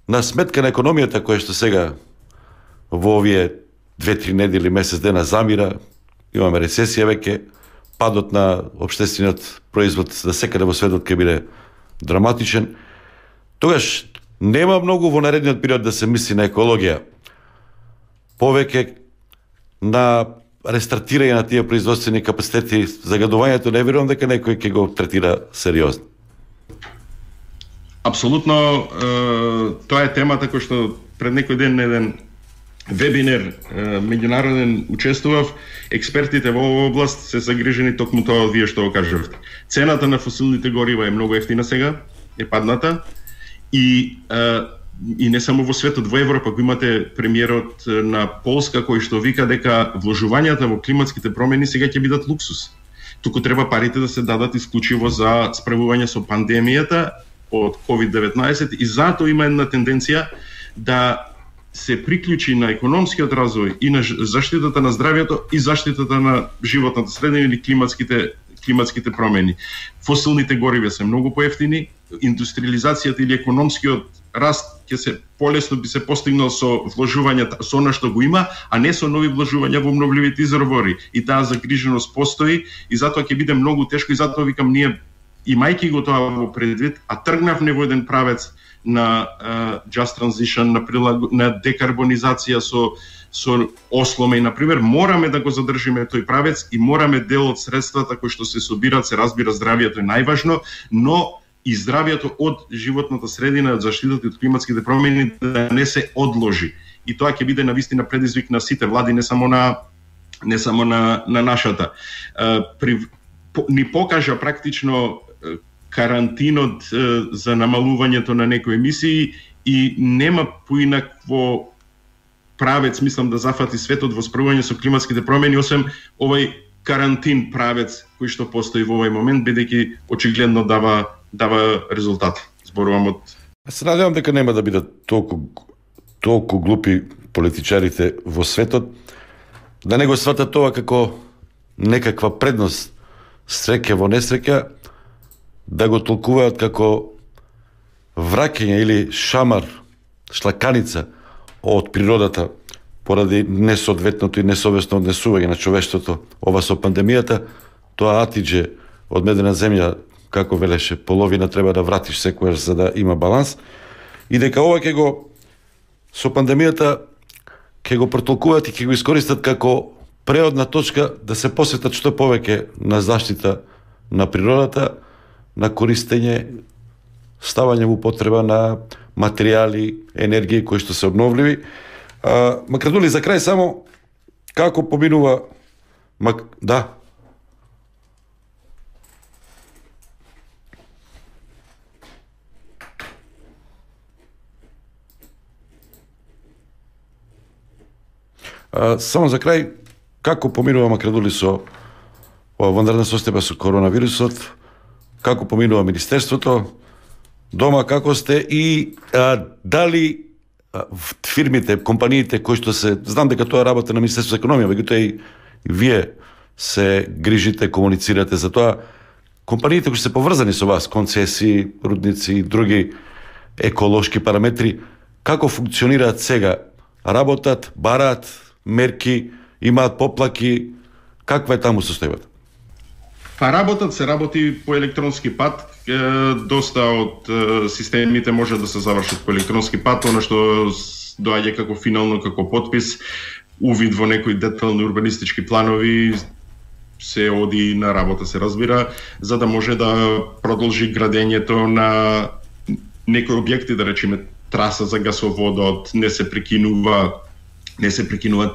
на сметка на економијата која што сега во овие 2-3 недели, месец дена замира, имаме рецесија веќе, падот на општествениот производ за секаде во светот ќе биде драматичен. Тогаш нема многу во наредниот период да се мисли на екологија. Повеќе на рестартирање на тие производствени капацитети, загадувањето не верувам дека некој ќе го третира сериозно. Апсолутно, тоа е темата која што пред некој ден на еден вебинар меѓународен учествував. Експертите во оваа област се загрижени токму тоа вие што го кажавте. Цената на фосилните горива е многу ефтина сега, е падната, и не само во светот, во Европа го имате премиерот на Полска кој што вика дека вложувањата во климатските промени сега ќе бидат луксус. Туку треба парите да се дадат исклучиво за справување со пандемијата од COVID-19, и затоа има една тенденција да се приклучи на економскиот развој и на заштитата на здравјето и заштитата на животната средина или климатските промени. Фосилните гориви се многу поевтини, индустриализацијата или економскиот раст ќе се полесно би се постигнал со вложувањата, со она што го има, а не со нови вложувања во обновливите извори. И таа загриженост постои и затоа ќе биде многу тешко и затоа викам ние имајќи го тоа во предвид, а тргнавме во еден правец на just transition, на декарбонизација со осломе и например мораме да го задржиме тој правец и мораме дел од средствата кои што се собираат, се разбира здравието е најважно, но и здравието од животната средина, од заштитата од климатските промени да не се одложи. И тоа ќе биде навистина предизвик на сите влади, не само на нашата. Ни покажа практично карантинот за намалувањето на некои емисии и нема поинакво правец, мислам, да зафати светот во справување со климатските промени, освен овој карантин правец кој што постои во овој момент, бидејќи очигледно дава резултат. Зборувам од... Се надевам дека нема да бидат толку глупи политичарите во светот, да не го сватат тоа како некаква предност, среќа во несреќа, да го толкуваат како враќање или шамар, шлаканица од природата поради несоодветното и несовесно однесување на човештвото ова со пандемијата, тоа атидже од медена земја, како велеше, половина треба да вратиш секојаш за да има баланс, и дека ова ќе го со пандемијата ќе го протолкуваат и ќе го искористат како преодна точка да се посветат што повеќе на заштита на природата, на користење, ставање во употреба на материјали, енергија кои што се обновливи. Макрадули, за крај само, како поминува... Да. Само за крај, како поминува Макрадули со ванредна состојба со коронавирусот, како поминува Министерството, дома како сте и дали фирмите, компаниите кои што се, знам дека тоа работа на Министерството за економија, меѓутоа и вие се грижите, комуницирате за тоа, компаниите кои се поврзани со вас, концесии, рудници и други еколошки параметри, како функционираат сега? Работат, бараат мерки, имаат поплаки, каква е таму состојбата? Па се работи по електронски пат, доста од системите може да се завршат по електронски пат, оно што доаѓа како финално, како подпис, увид во некои детални урбанистички планови, се оди на работа, се разбира, за да може да продолжи градењето на некои објекти, да речеме траса за гасоводот, не се прекинуваат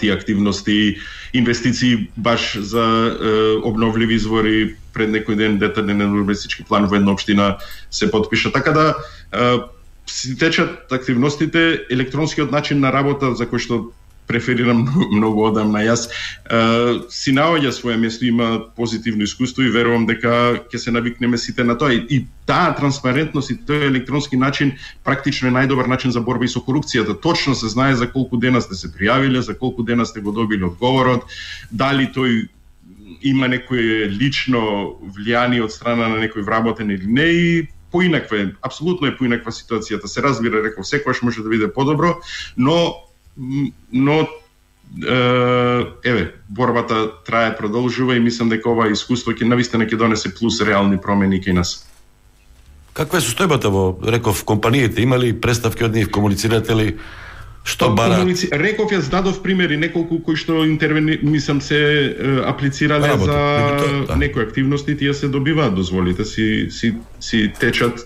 тие активности, инвестиции баш за обновливи извори. Пред некој ден детален урбанистички план во една општина се подпиша. Така да си течат активностите, електронскиот начин на работа за кој што преферирам многу одамна јас, си наоѓа своје место, има позитивно искуство и верувам дека ќе се навикнеме сите на тоа. И таа транспарентност и тој електронски начин практично е најдобар начин за борба и со корупцијата. Точно се знае за колку дена сте се пријавиле, за колку дена сте го добили одговорот, дали тој има некој лично влијание од страна на некој вработен или не, и поинаква е, апсолутно е поинаква ситуацијата. Се разбира, реков, секогаш може да биде подобро, но борбата трае, продолжува и мислам дека ова искуство ќе навистина ќе донесе плюс реални промени кај нас. Каква е состојбата во, реков, компаниите? Има ли представки од нив, комуницирате ли? Што барат? Реков, јас дадов примери, неколку кои што мислам се аплицирале за некои активности, тие се добиваат дозволите, си течат,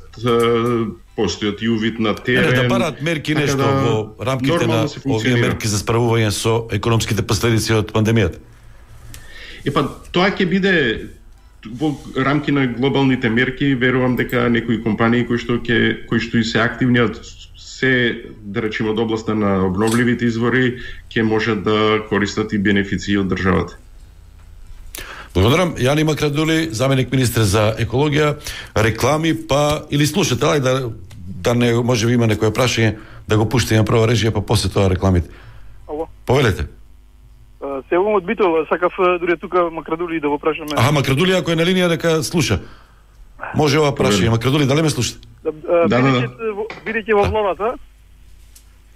постојат и увид на терен. Да барат мерки нешто во рамките на овие мерки за справување со економските последици од пандемијата? Тоа ќе биде во рамки на глобалните мерки. Верувам дека некои компании кои што и се активни, се, да речеме, од областа на обновливите извори, ќе може да користат и бенефиции од државата. Благодарам. Јани Макрадули, заменик министер за екологија, реклами, па или слушате, да не може би има некој прашање, да го пуштиме прво режија, па после тоа рекламите. Ало. Повелете. Се јавувам од Битола, сакав дури тука Макрадули да го прашаме. Макрадули ако е на линија дека слуша. Може ова прашање. Макрадули, дали ме слушате? Бидејќи во владата,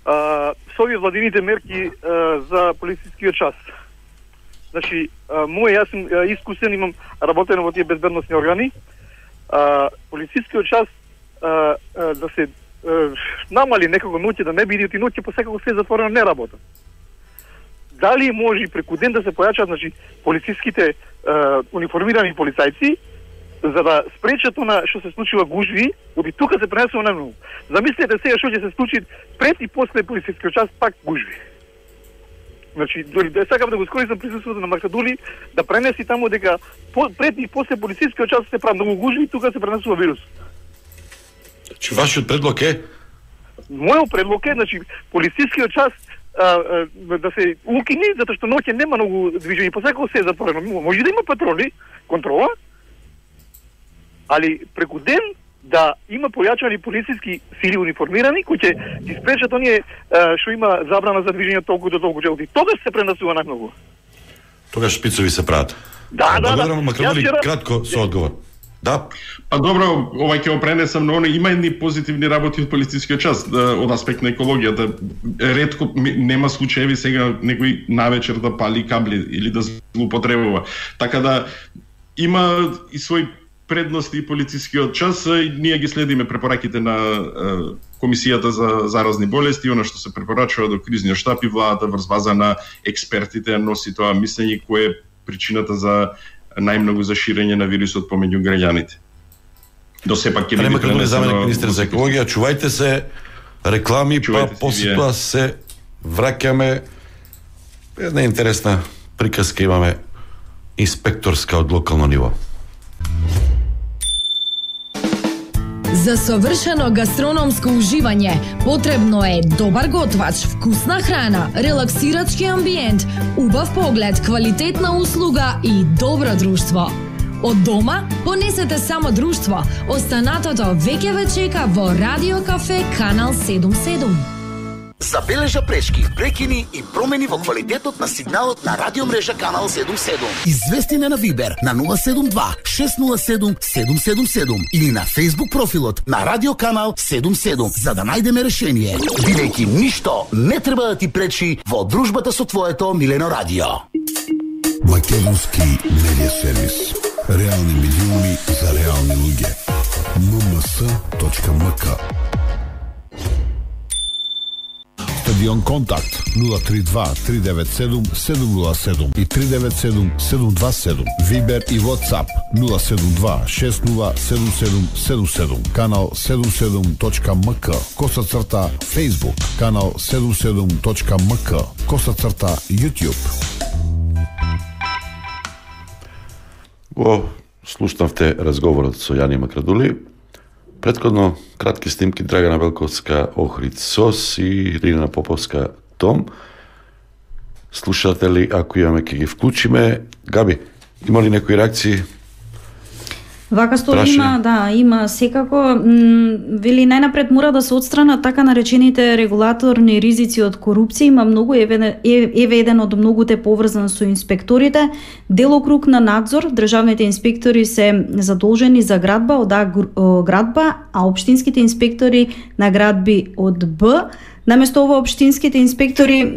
со овие владините мерки за полицискиот час. Значи, јас сум искусен, имам работено во тие безбедносни органи. Полицискиот час да се намали некако ноќе, да не биде и ноќе посекако се затворено, не работа. Дали може преку ден да се појачат, значи, полициските униформирани полицајци, за да спречат она што се случува гужви, оди тука се пренесува најмногу. Замислете сега што ќе се случи пред и после полицискиот час, пак гужви. Значи, дори да сакам да го искористам присуството на Макрадули, да пренеси таму дека пред и после полицискиот час се прави многу гужви, тука се пренесува вирус. Значи, вашиот предлог е? Мојот предлог е, значи, полицискиот час да се укини, затоа што ноќе нема многу движење, посекако се е затворено. Може да има патроли, контрола, али преку ден да има појачани полициски сили униформирани кои ќе ги спречат оние што има забрана за движење толку до толку часот. Тогаш се пренесува најмногу. Тогаш шпицови се прават. Да. Макрадули, кратко со одговор. Да. Па добро, ова ќе го пренесам, но има едни позитивни работи од полицискиот час, од аспект на екологијата. Ретко нема случаеви сега некој навечер да пали кабли или да злоупотребува. Така да има и свој предности и полицискиот час, и ние ги следиме препораките на Комисијата за заразни болести, она што се препорачува до кризниот штаб и владата врз база на експертите носи тоа мислење кое е причината за најмногу за ширење на вирусот помеѓу граѓаните. До сепак ќе биде Макрадули, заменик министер за екологија, чувајте се, реклами, па после тоа се враќаме. Една интересна приказка имаме инспекторска од локално ниво. За совршено гастрономско уживање потребно е добар готвач, вкусна храна, релаксирачки амбиент, убав поглед, квалитетна услуга и добро друштво. Од дома понесете само друштво. Останатото веќе ве чека во Радио Кафе Канал 77. Забележа пречки, прекини и промени во квалитетот на сигналот на радиомрежа Канал 77. Извести на Вибер на 072 607 777 или на Facebook профилот на Радио Канал 77 за да најдеме решение. Бидејќи ништо не треба да ти пречи во дружбата со твоето милено радио. Македонски медиа сервис. Реални медиуми за реални луѓе. mms.mk. Стадион Контакт 032 397 707 и 397 727. Вибер и WhatsApp 072 607777. Канал 77.mk. _. Facebook. Канал 77.mk. _ YouTube. Во слушнавте разговорот со Јани Макрадули. Претходно кратки снимки Драгана Белковска Охрид Сос и Ирина Поповска Том. Слушате ли, ако имаме, ќе ги вклучиме. Габи, има ли некои реакции? Вака стои има секако. Вели најнапред мора да се отстранат така наречените регулаторни ризици од корупција. Има многу еве еден од многуте поврзан со инспекторите. Делокруг на надзор, државните инспектори се задолжени за градба од А градба, а општинските инспектори на градби од Б. Наместо ова општинските инспектори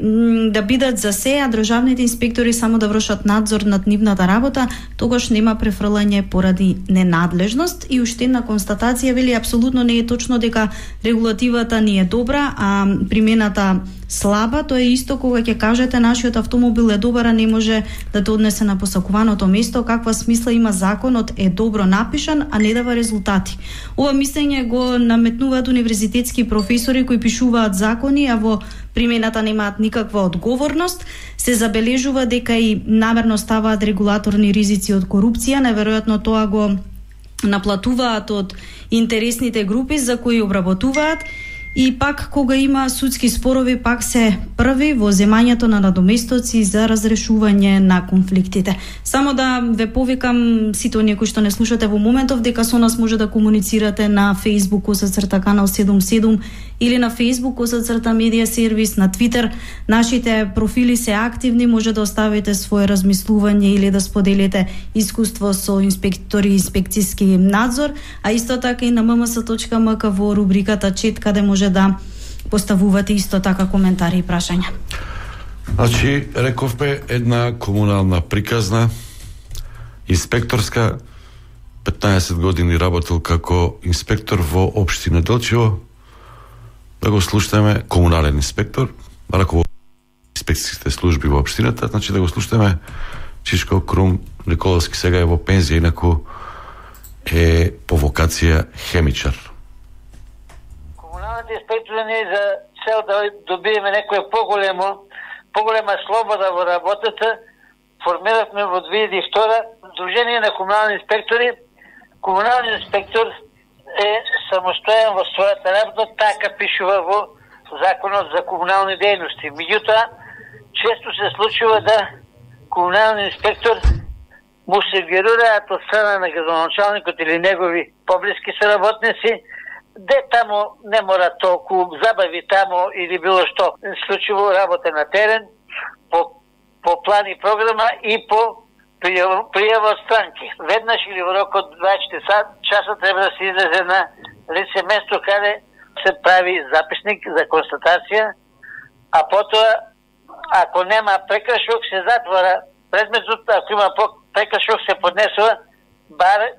да бидат за се, а државните инспектори само да вршат надзор над нивната работа, тогаш нема префрлање поради ненадлежност. И уште една констатација, вели, апсолутно не е точно дека регулативата ни е добра, а примената слаба. Тоа е исто кога ќе кажете нашиот автомобил е добар, а не може да те однесе на посакуваното место. Каква смисла има законот е добро напишан, а не дава резултати. Ова мислење го наметнуваат универзитетски професори кои пишуваат закони, а во примената немаат никаква одговорност. Се забележува дека и намерно ставаат регулаторни ризици од корупција. Неверојатно тоа го наплатуваат од интересните групи за кои обработуваат. И пак кога има судски спорови, пак се први во земањето на надоместоци за разрешување на конфликтите. Само да ве повикам сите оние кои што не слушате во моментов дека со нас може да комуницирате на Facebook /канал 77 или на Facebook /медија сервис, на Twitter. Нашите профили се активни, може да оставите свое размислување или да споделите искуство со инспектори и инспекцијски надзор, а исто така и на mms.mk во рубриката Чет, каде може да поставувате исто така коментари и прашања. Значи, рековме една комунална приказна, инспекторска, 15 години работел како инспектор во општина Делчево. Да го слушаме, комунален инспектор, раководител инспекцијските служби во општината, значи да го слушаме Чичко Крум Николовски, сега е во пензија, инаку е по вокација хемичар. Комуналните инспектори не е за цел да добиеме некоја поголема слобода во работата. Формиравме во 2002 Дружение на комунални инспектори. Комуналниот инспектор е самостоен во својата работа, така пишува во Законот за комунални дејности. Меѓутоа, често се случува да комуналниот инспектор му се герираат од страна на градоначалникот или негови поблиски соработници, де таму не мора толку забави таму или било што. Случува работа на терен, по план и програма и по пријава од странки. Веднаш или во рок од 24 часа треба да се излезе на лице место каде се прави записник за констатација, а потоа, ако нема прекршок, се затвора предметот, ако има прекршок, се поднесува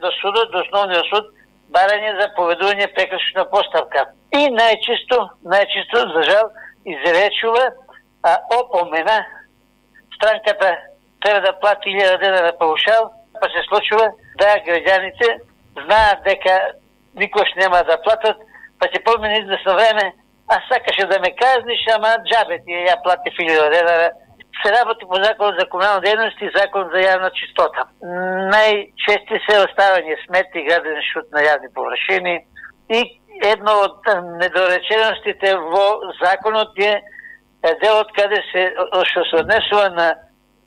до судот, до основниот суд, барање за поведување прекршочна поставка. И најчисто, за жал, изречува опомена. Странката треба да плати 1000 денара паушал, па се случува да граѓаните знаат дека никош нема да платат, па ќе помине известно време, а сакаше да ме казниш, ама джабе ти ја плати 1000 денара. Се работи по Закон за комунална дејност и Закон за јавна чистота. Најчести се оставање смети и граден шут на јавни површини и едно од недореченостите во законот е делот каде што се однесува на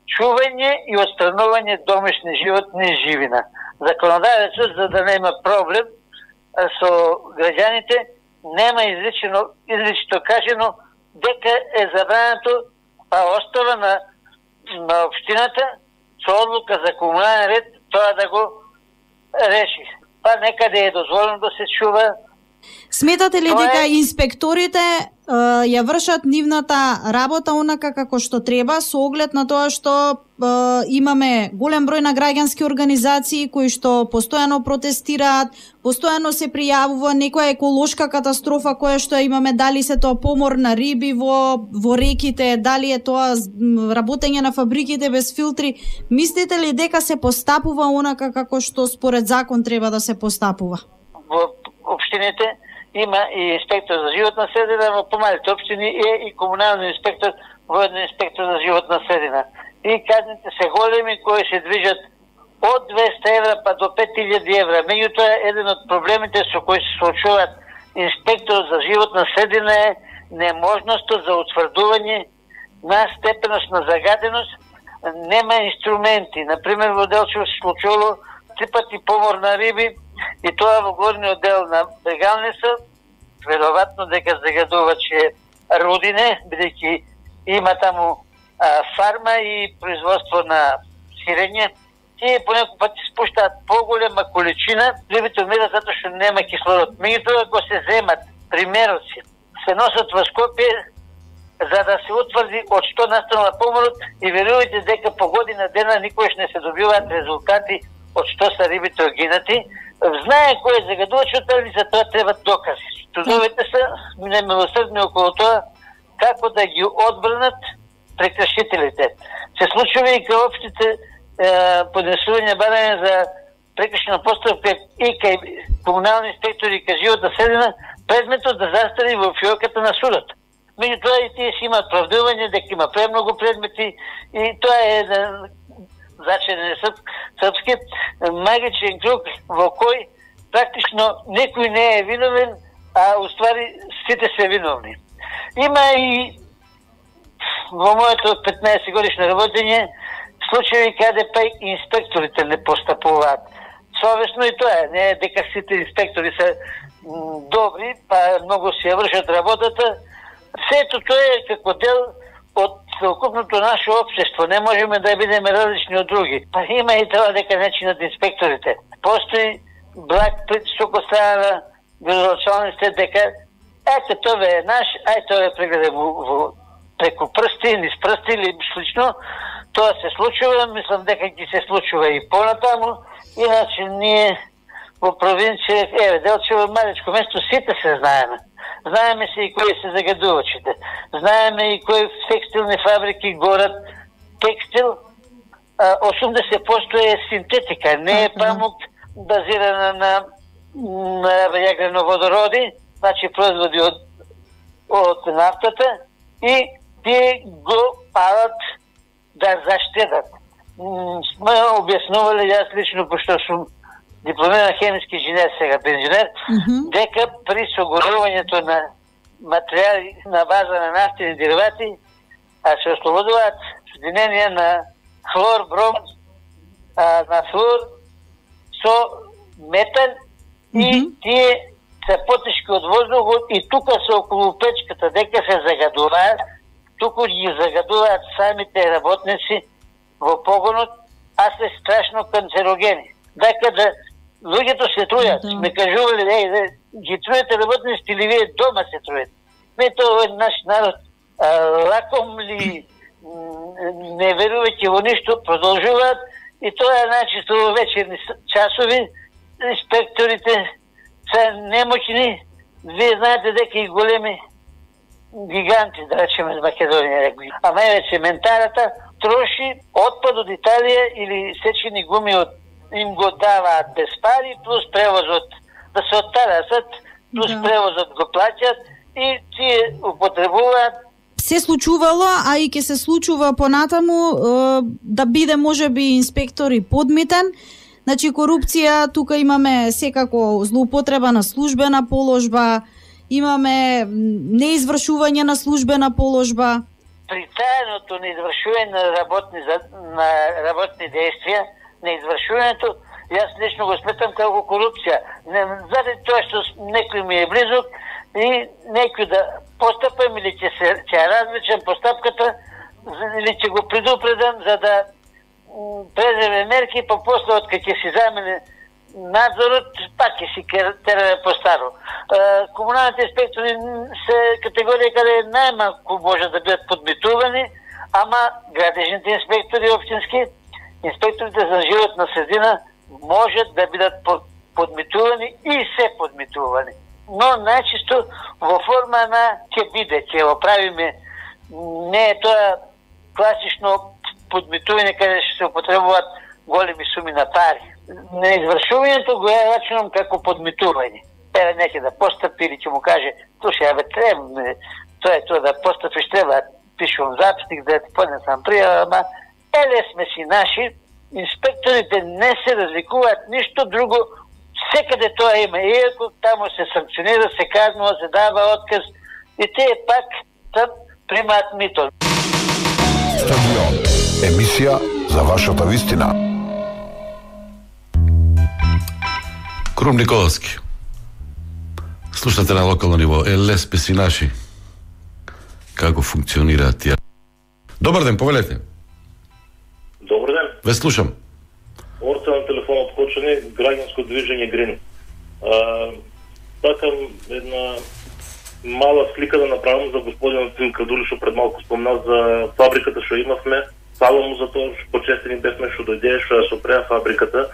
чување и отстранување домашни животни и живина. Законодавецот, за да нема проблем со граѓаните, нема изрично кажено дека е забрането, па остава на општината со одлука за комунален ред тоа да го реши. Па некаде е дозволено да се чува. Сметате ли дека инспекторите ја вршат нивната работа онака како што треба, со оглед на тоа што имаме голем број на граѓански организации кои што постојано протестираат, постојано се пријавува некоја еколошка катастрофа која што имаме, дали се тоа помор на риби во реките, дали е тоа работење на фабриките без филтри. Мислите ли дека се постапува онака како што според закон треба да се постапува? Во општините има и инспектор за животна средина, во помалите општини е и комунален инспектор, воедно инспектор за животна средина. И казните се големи кои се движат од 200 евра па до 5000 евра. Меѓутоа, еден од проблемите со кои се случуваат инспектор за животна средина е неможноста за утврдување на степеност на загаденост. Нема инструменти. Например, во Делчево се случило 3 пати помор на риби, и тоа во горниот дел на брегалница, веројатно дека загадуваче рудине, бидејќи има таму фарма и производство на сирење. Тие понекој пат спуштаат поголема количина, рибите умират затоа што нема кислород. Меѓутоа, ако се земат примероци, се носат во Скопје за да се утврди од што настанува поморот и верувајте дека по година дена никош не се добиваат резултати од што са рибите огинати. Знае кој е загадувачот, али за тоа требат докази. Судовите се немилосрдни околу тоа како да ги одбранат прекршителите. Се случува и кај општите поднесување барање за прекршена постапка и кај комунални инспектори и кај животна средина, предметот да застари во фиоката на судот. Меѓутоа и тие си имаат правдување дека има премногу предмети и тоа е зачинен магичен круг во кој практично некој не е виновен, а а уствари сите се виновни. Има и во моето 15 годишно работење случаи каде па инспекторите не постапуваат совесно, и тоа не е дека сите инспектори се добри, па многу си ја вршат работата. Сето тоа е како дел од целокупното наше општество. Не можеме да бидеме различни од други. Па има и тоа дека начинот инспекторите. Постои благ притисок од страна на градоначалниците дека ете тоа е наш, ај тоа е прегледа во преку прсти, низ прсти или слично. Тоа се случува, мислам дека ќе се случува и понатаму. Иначе ние во провинција, Делчево, малечко место, сите се знаеме. Знаеме се и кои се загадувачите. Знаеме и кои текстилни фабрики горат текстил. 80% е синтетика, не е памук базирана на јаглено-водороди, значи производи од нафтата, и тие го палат да заштедат. Сме објаснували, јас лично, пошто сум дипломиран хемиски инженер, сега пензионер, дека при согорувањето на материјали на база на нафтени деривати се ослободуваат соединенија на хлор, бром, на флуор со метан, и тие се потешки од воздухот, и тука се околу печката дека се загадуваат, туку ги загадуваат самите работници во погонот, а се страшно канцерогени. Дека да луѓето се трујат, сме кажували, ги трујате работниците или вие дома се трујате. Не, тоа е наш народ, лаком ли, не верувајќи во ништо, продолжуваат, и тоа е начисто во вечерни часови, инспекторите се немоćни. Вие знаете дека и големи гиганти, да речеме, из Македонија, а највеќе ментарата, троши отпад од Италија или сечени гуми им го даваат без пари, плюс превозот да се оттарасат, плюс превозот го плаќат и тие употребуваат. Се случувало, а и ќе се случува понатаму да биде можеби инспектори подмитен. Значи корупција, тука имаме секако злоупотреба на службена положба, имаме неизвршување на службена положба. Притајното неизвршување на работни действија, неизвршувањето, јас лично го сметам како корупција. Заради тоа што некој ми е близок и некој да постапам или ќе ја развлечам постапката, или ќе го предупредам за да преземе мерки, па после од кога ќе си замене надзорот, пак ќе си тераме по старо. Комуналните инспектори се категорија каде најмалку може да бидат подмитувани, ама градежните инспектори општински, инспекторите за животна средина можат да бидат подмитувани и се подмитувани. Но најчисто во форма на ќе биде, ќе го правиме, не е тоа класично подмитување каде ќе се употребуваат големи суми на пари. Неизвршувањето го ја рачунам како подмитување. Неќе да постапи или ќе му каже, слушај, треба, тоа е тоа да постапиш, треба, пишувам записник, да ти поднесам пријава, ама еле сме си наши, инспекторите не се разликуваат ништо друго, секаде тоа има, иако таму се санкционира, се казнува, се дава отказ, и тие пак там примаат мито. Стадион. Емисија за вашата вистина. Крум Николовски. Слушате на локално ниво. Лес песи наши. Како функционираат тие? Добар ден, повелете. Добар ден. Ве слушам. Орца на телефонот Кочани, граѓанско движење Грин. Такам една мала слика да направам за господинот Цим Кадули, што пред малку спомна за фабриката што имавме. Фала му за тоа, почестени бевме што дојде, што ја сопреа фабриката.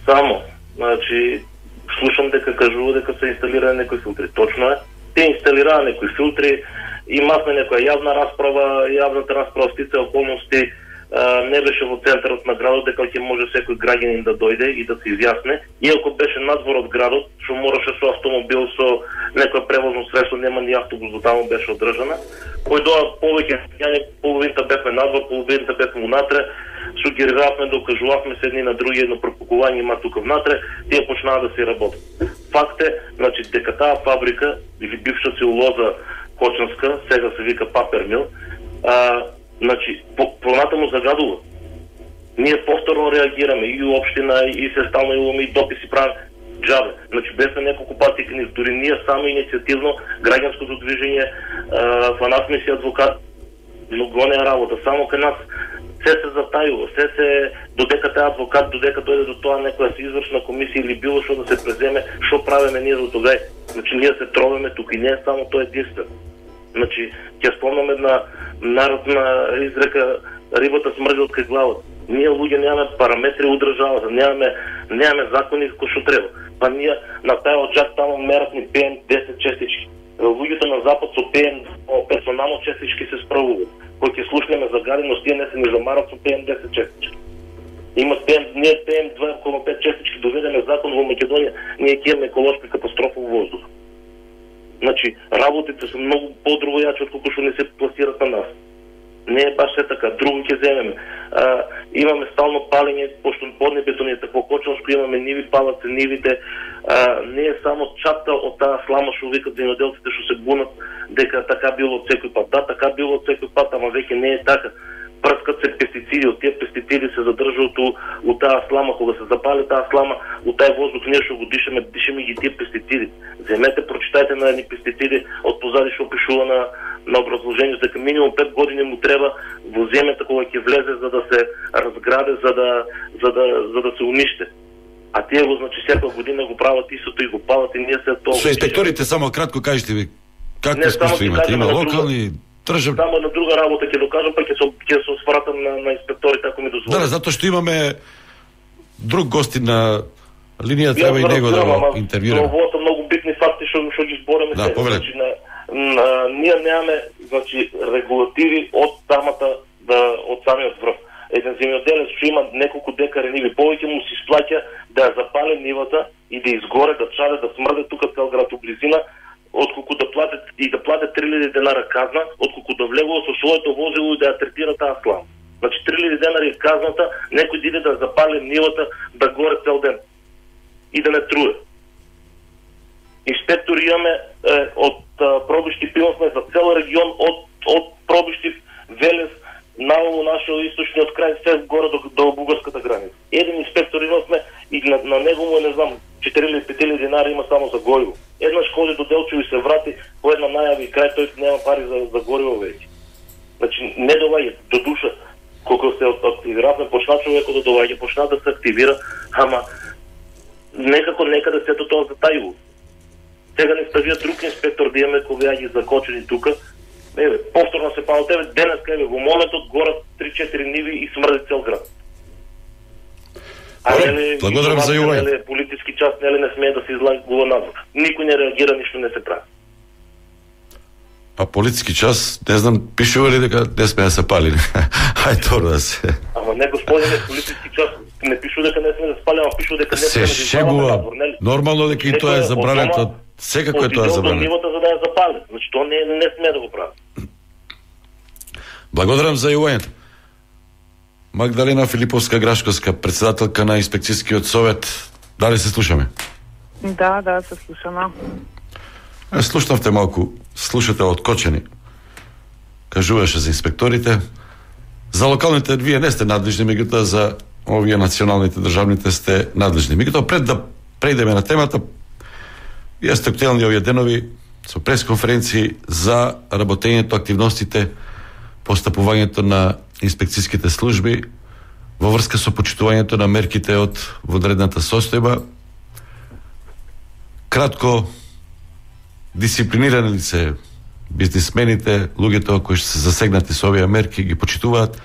Само, значи, слушам дека кажува дека се инсталираа некои филтри. Точно е. Те инсталираа некои филтри, имавме некоја јавна расправа, јавната расправа стица околности не беше во центарот на градот, дека ќе може секој граѓанин да дојде и да се изјасне. Иако беше надвор од градот, што мораше со автомобил, со некој превозно средство, нема ни автобус до таму беше одржана. Кој доа повеќе граѓани, половината бевме надвор, половината бевме унатре, сугериравме, докажувавме се едни на други, едно пропукување има тука внатре, тие почнаа да се работат. факт е, значи, дека таа фабрика или бивша целулоза Кочанска, сега се вика Папермил, значи, понатаму загадува. Ние повторно реагираме и општина, и се стално имаме и дописи правиме джабе. Значи, без на неколку пати книз, дори ние само инициативно, граѓанското движење, фанат ми си адвокат, но гоне работа, само кај нас се затајува, се додека тај адвокат, додека дојде до тоа некоја се извршна комисија или било што да се преземе, што правиме ние до тогај. Значи, ние се тровеме тука и не е само тоа единствено. Значи, ќе спомнам една народна изрека, рибата смрди од кај главата. Ние луѓе немаме параметри од државата, немаме закони кои што треба. Па ние на тај оджак таму мерат ни PM10 честички. Луѓето на запад со PM персонално честички се справуваат. Кој ќе слушнеме за гаденост, тие не се ни замарат со PM10 честички. Има ние PM2,5 честички доведеме закон во Македонија, ние ќе имаме еколошка катастрофа во воздух. Значи, работите се многу по-другојачи од колку што не се пласират на нас. Не е баш се така. Друго ќе земеме. Имаме стално палење, пошто поднебетоните по Кочанско имаме ниви, палат се нивите. Не е само чапта од таа слама што викат земјоделците што се бунат дека така било од секој пат. Да, така било од секој пат, ама веќе не е така. Прскат се пестициди, од тие пестициди се задржуваат у таа слама, кога се запали таа слама, у тај воздух ние што го дишаме ги тие пестициди. Земете, прочитајте на едни пестициди од позади што пишува на образложението, дека минимум 5 години му треба во земјата кога ќе влезе за да се разграде, за да се униште. А тие го, значи, секоја година го прават истото и го палат и ние се тоа. Со инспекторите само кратко кажете ви какво искуство имате? Има локални тржав... Само на друга работа ќе докажам, па ќе се свратам на инспекторите ако ми дозволите. Да, затоа што имаме друг гости на линија, треба и него да го интервјураме. Ова се многу битни факти што ги збореме. Да, повеле. Ние немаме, значи, регулативи од самата од самиот врв. Еден земјоделец што има неколку декари ниви, повеќе му се исплаќа да ја запали нивата и да изгоре, да чаде, да смрде тука цел град у близина, отколку да платят 3000 денара казна, отколку да влегува со своето возило и да ја третира таа слама. Значи 3000 денари е казната, некој да иде да запали нивата, да горе цел ден и да не труе. Инспектори имаме од Пробишти, пилосме за цел регион, од Пробишти, Велес, наволу нашиот источниот крај, се горе до бугарската граница. Еден инспектор имавме и на него му е, не знам, 4 или 5 денари има само за гориво. Еднаш ходи до Делчево и се врати по една најави крај, тој нема пари за гориво веќе. Значи, не доваѓа до душа. Колку се активиравме, почна човекот да доваѓа, почна да се активира, ама некако некаде сето тоа затајува. Сега не ставија друг инспектор да имаме кога ги закочени тука. Повторно се пало тебе, денеска во моментот горат 3-4 ниви и смрди цел град. Благодарам за јување. Политички час не смее да се излагува надвор. Никој не реагира, ништо не се прави. А политички час, не знам, пишува ли дека не смее да се пали? Хај тоа да се... Ама не, господине, политички час не пишува дека не смее да се пали, ама пишува дека не смее да се шегува. Нормално дека и тоа е забрането. Секако е тоа забрането. Нивото за да ја запали. Значи тоа не смее да го прави. Благодарам за јувањето. Магдалина Филиповска-Грашковска, председателка на инспекцијскиот совет. Дали се слушаме? Да, се слушаме. Слушнавте малку, слушате од Кочани. Кажуваше за инспекторите. За локалните вие не сте надлежни, меѓутоа за овие националните, државните сте надлежни. Меѓутоа пред да преидеме на темата, вие сте актуелни овие денови со пресконференции за работењето, активностите, постапувањето на инспекцијските служби во врска со почитувањето на мерките од вонредната состојба. Кратко, дисциплинирани ли се бизнисмените, луѓето кои се засегнати со овие мерки, ги почитуваат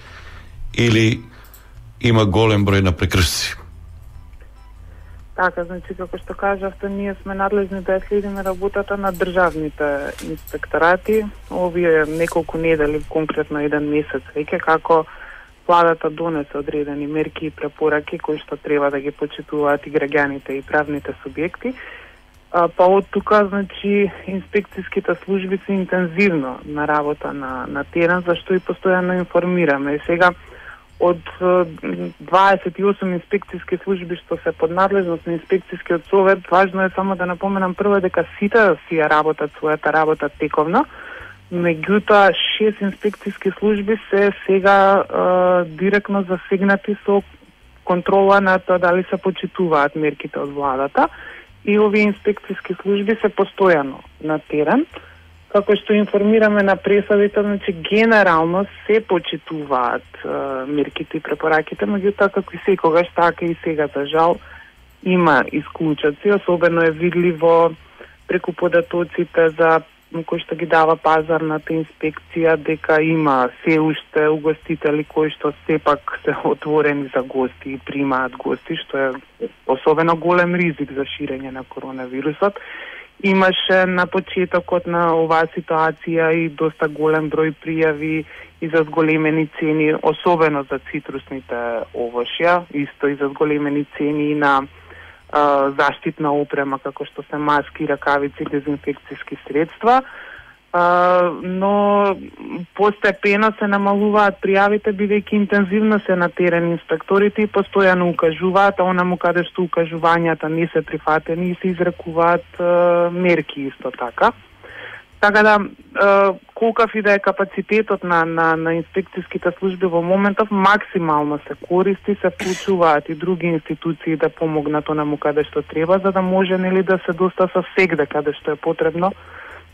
или има голем број на прекршци? Така, значи, како што кажавте, ние сме надлежни да ја следиме работата на државните инспекторати. Овие неколку недели, конкретно еден месец веќе, како владата донесе одредени мерки и препораки кои што треба да ги почитуваат и граѓаните и правните субјекти. Па од тука, значи, инспекцијските служби се интензивно на работа на терен, зашто и постојано информираме. И сега, од 28 инспекцијски служби што се под надлежност на инспекцијскиот совет, важно е само да напоменам прво дека сите си ја работат својата работа тековно, меѓутоа 6 инспекцијски служби се сега директно засегнати со контрола на тоа дали се почитуваат мерките од владата, и овие инспекцијски служби се постојано на терен. Како што информираме на пресадите, значи генерално се почитуваат мерките и препораките, меѓутоа како и секогаш, така и сега за жал има исклучоци, особено е видливо преку податоците за кој што ги дава пазарната инспекција дека има се уште угостители кои што сепак се отворени за гости и примаат гости, што е особено голем ризик за ширење на коронавирусот. Имаше на почетокот на оваа ситуација и доста голем број пријави и за зголемени цени, особено за цитрусните овошја, исто и за зголемени цени на заштитна опрема, како што се маски, ракавици, дезинфекцијски средства, но постепено се намалуваат пријавите, бидејќи интензивно се на терен инспекторите и постојано укажуваат, а онаму каде што укажувањата не се прифатени и се изрекуваат мерки исто така. Така да, колкав и да е капацитетот на инспекцијските служби во моментов, максимално се користи, се вклучуваат и други институции да помогнат онаму каде што треба, за да може нели да се доста со сегде каде што е потребно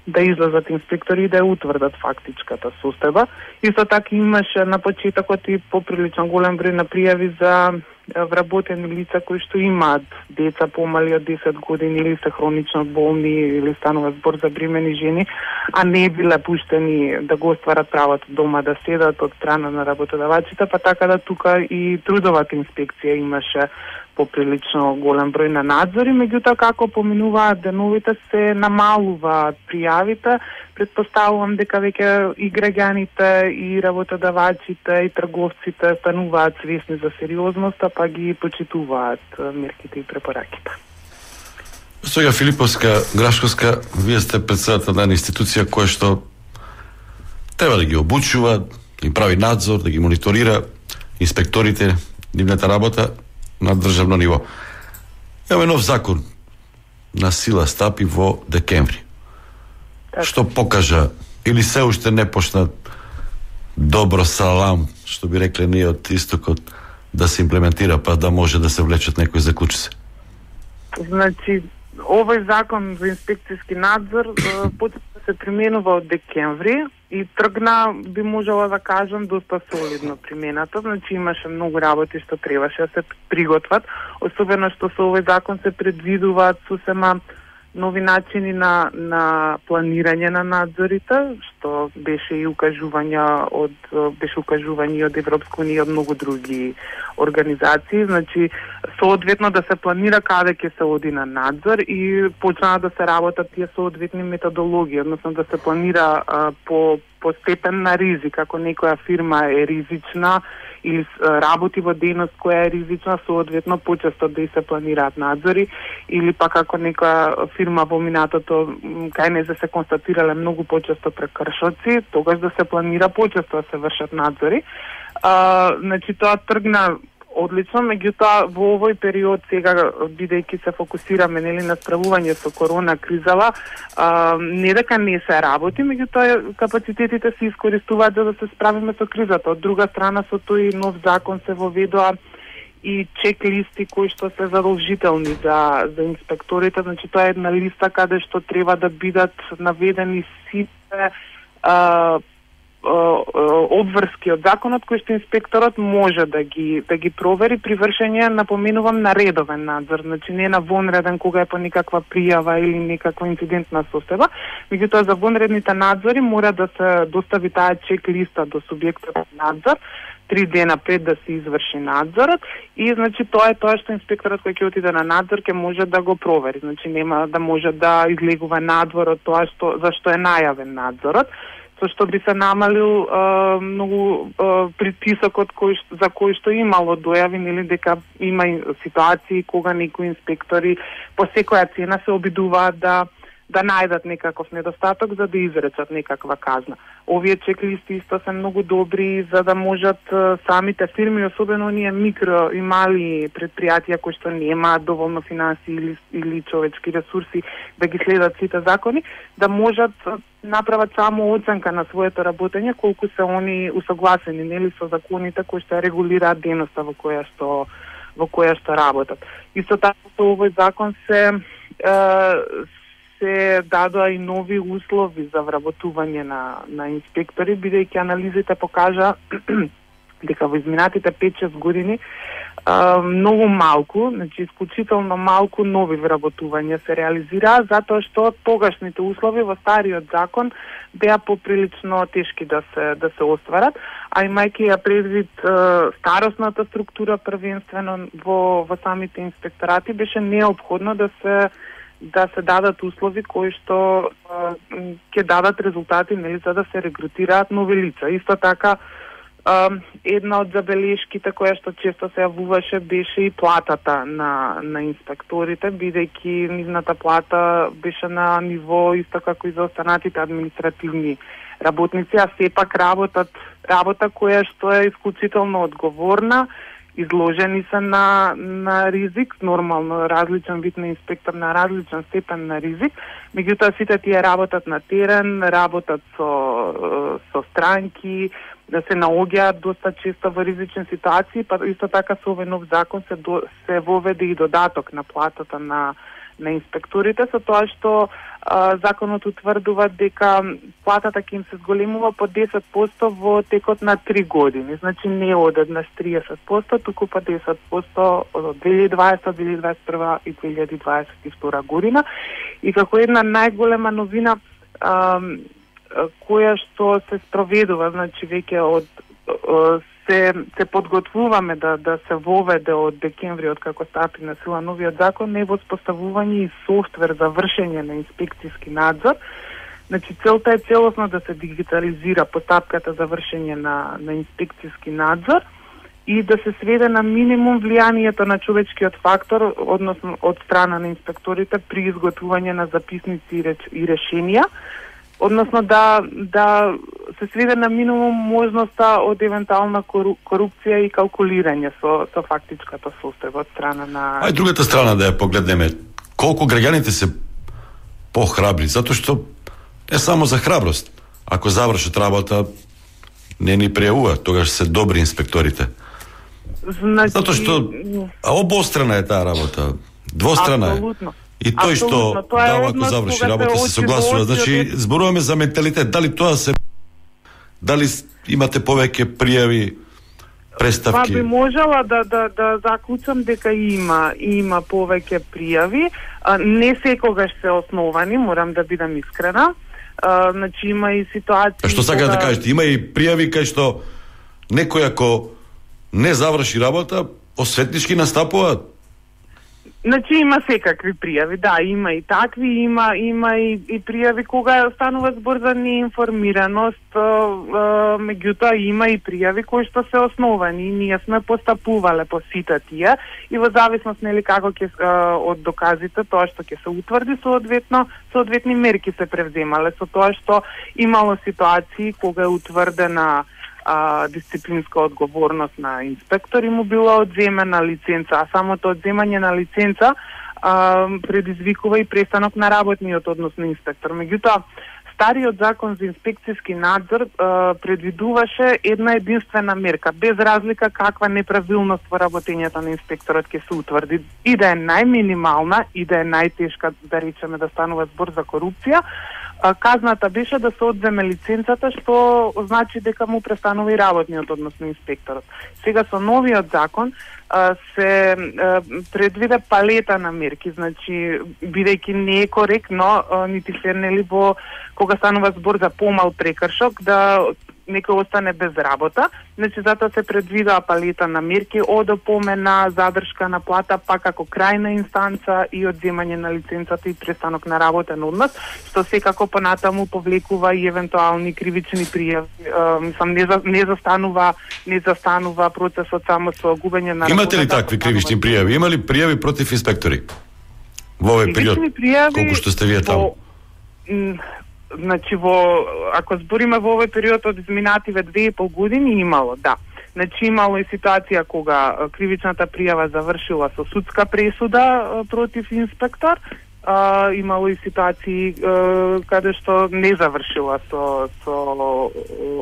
да излезат инспектори и да ја утврдат фактичката состојба. Исто така имаше на почетокот и поприлично голем број на пријави за вработени лица кои што имаат деца помали од 10 години или се хронично болни или станува збор за бремени жени, а не биле пуштени да го остварат правото дома да седат од страна на работодавачите, па така да тука и трудовата инспекција имаше поприлично голем број на надзори, меѓутоа како поминуваат деновите се намалуваат пријавите. Предпоставувам дека веќе и граѓаните, и работодавачите, и трговците стануваат свесни за сериозноста, па ги почитуваат мерките и препораките. Сега Филиповска, Грашковска, вие сте председател на една институција која што треба да ги обучува, да им прави надзор, да ги мониторира инспекторите, нивната работа на државно ниво. Имаме нов закон на сила стапи во декември. Што покажа или се уште не почна добро салам, што би рекле ние од истокот, да се имплементира, па да може да се влечат некои заклучици? Значи, овој закон за инспекцијски надзор почна да се применува од декември и тргна, би можела да кажам, доста солидно примената. Значи имаше многу работи што требаше да се приготват, особено што со овој закон се предвидуваат сосема нови начини на планирање на надзорите, што беше укажување од Европска унија и од многу други организации. Значи, соодветно да се планира каде ќе се оди на надзор и почнаа да се работат тие соодветни методологии, односно да се планира по степен на ризик. Ако некоја фирма е ризична или работи во дејност која е ризична, соодветно почесто да и се планираат надзори, или пак ако некоја фирма во минатото кај не се констатирале многу почесто прекршоци, тогаш да се планира почесто да се вршат надзори. Значи тоа тргна одлично, меѓутоа во овој период сега, бидејќи се фокусираме нели на справување со корона кризала, не дека не се работи, меѓутоа капацитетите се искористуваат за да се справиме со кризата. Од друга страна, со тој нов закон се воведоа и чек-листи кои што се задолжителни за инспекторите. Значи тоа е една листа каде што треба да бидат наведени сите обврски од законот кои што инспекторот може да ги провери при вршење, напоменувам, на редовен надзор, значи не на вонреден кога е по некаква пријава или некаква инцидентна состојба, меѓутоа за вонредните надзори мора да се достави таа чек-листа до субјектот надзор 3 дена пред да се изврши надзорот и значи тоа е тоа што инспекторот кој ќе отиде на надзор ќе може да го провери, значи нема да може да излегува надвор од тоа за што е најавен надзорот, со што би се намалил многу притисокот за кој што имало дојави, нели дека има ситуации кога некои инспектори по секоја цена се обидуваат да да најдат некаков недостаток за да изречат некаква казна. Овие чеклисти исто се многу добри за да можат самите фирми, особено оние микро и мали предпријатија кои што немаат доволно финанси или човечки ресурси да ги следат сите закони, да можат направат само оценка на своето работење колку се они усогласени нели со законите кои што регулираат дејноста во која што работат. Исто така со овој закон се дадоа и нови услови за вработување на инспектори, бидејќи анализите покажа дека во изминатите 5-6 години многу малку, значи исклучително малку нови вработувања се реализираа затоа што тогашните услови во стариот закон беа поприлично тешки да се остварат, а имајќи ја предвид старосната структура првенствено во самите инспекторати беше неопходно да се дадат услови кои што ќе дадат резултати нели за да се регрутираат нови лица. Исто така една од забелешките која што често се јавуваше беше и платата на инспекторите, бидејќи нивната плата беше на ниво исто како и за останатите административни работници, а сепак работа која што е исклучително одговорна, изложени се на ризик, нормално различен вид на инспектор на различен степен на ризик, меѓутоа сите тие работат на терен, работат со странки, да се наоѓаат доста често во ризични ситуации, па исто така со овој нов закон се воведе и додаток на платата на инспекторите, со тоа што законот утврдува дека платата ќе им се зголемува по 10% во текот на 3 години. Значи не од еднаш 30%, туку по 10% од 2020, 2021 и 2022 година. И како една најголема новина која што се спроведува, значи веќе се подготвуваме да се воведе од декември, од како стапи на сила новиот закон, е воспоставување и софтвер за вршење на инспекцијски надзор. Значи целта е целосно да се дигитализира постапката за вршење на инспекцијски надзор и да се сведе на минимум влијанието на човечкиот фактор, односно од страна на инспекторите при изготвување на записници и решенија, односно да се сведе на минимум можноста од евентуална корупција и калкулирање со фактичката состојба од страна на... А и другата страна да ја погледнеме, колку граѓаните се похрабри, затоа што не само за храброст, ако завршат работа, не ни пријавува, тогаш се добри инспекторите. Значи... Затоа што обострана е таа работа, двострана е. Абсолютно. И тој што дава ако заврши работа се согласува. Значи зборуваме за менталитет. Дали имате повеќе пријави, преставки? Па би можела да заклучам дека има повеќе пријави. Не секогаш се основани, морам да бидам искрена. Значи има и ситуации... Што сакате да кажете? Има и пријави кај што некој ако не заврши работа, осветнички настапуваат? Значи има секакви пријави, да, има и такви, има и пријави кога станува збор за неинформираност, меѓутоа има и пријави кои што се основани. Ние сме постапувале по сите тие и во зависност нели како ќе од доказите тоа што ќе се утврди соодветни мерки се превземале, со тоа што имало ситуации кога е утврдена дисциплинска одговорност на инспектори му била одземена лиценца, а самото одземање на лиценца предизвикува и престанок на работниот однос на инспектор. Меѓутоа, стариот закон за инспекцијски надзор предвидуваше една единствена мерка, без разлика каква неправилност во работењето на инспекторот ќе се утврди, и да е најминимална, и да е најтешка, да речеме да станува збор за корупција. Казната беше да се одземе лиценцата, што значи дека му престанува и работниот однос на инспекторот. Сега со новиот закон се предвиде палета на мерки, значи бидејќи не е коректно нити фер нели во кога станува збор за помал прекршок да некој остане без работа, значи затоа се предвидува палета на мерки од опомена, задршка на плата, па како крајна инстанца и одземање на лиценцата и престанок на работен однос, што секако понатаму повлекува и евентуални кривични пријави. Мислам не застанува процесот само со губење на работа. Имате ли такви кривични пријави? Има ли пријави против инспектори? Во овој период, колку што сте вие таму? Значи, ако збориме во овој период од изминативе 2,5 години, имало, да. Значи, имало и ситуација кога кривичната пријава завршила со судска пресуда против инспектор, имало и ситуации каде што не завршила со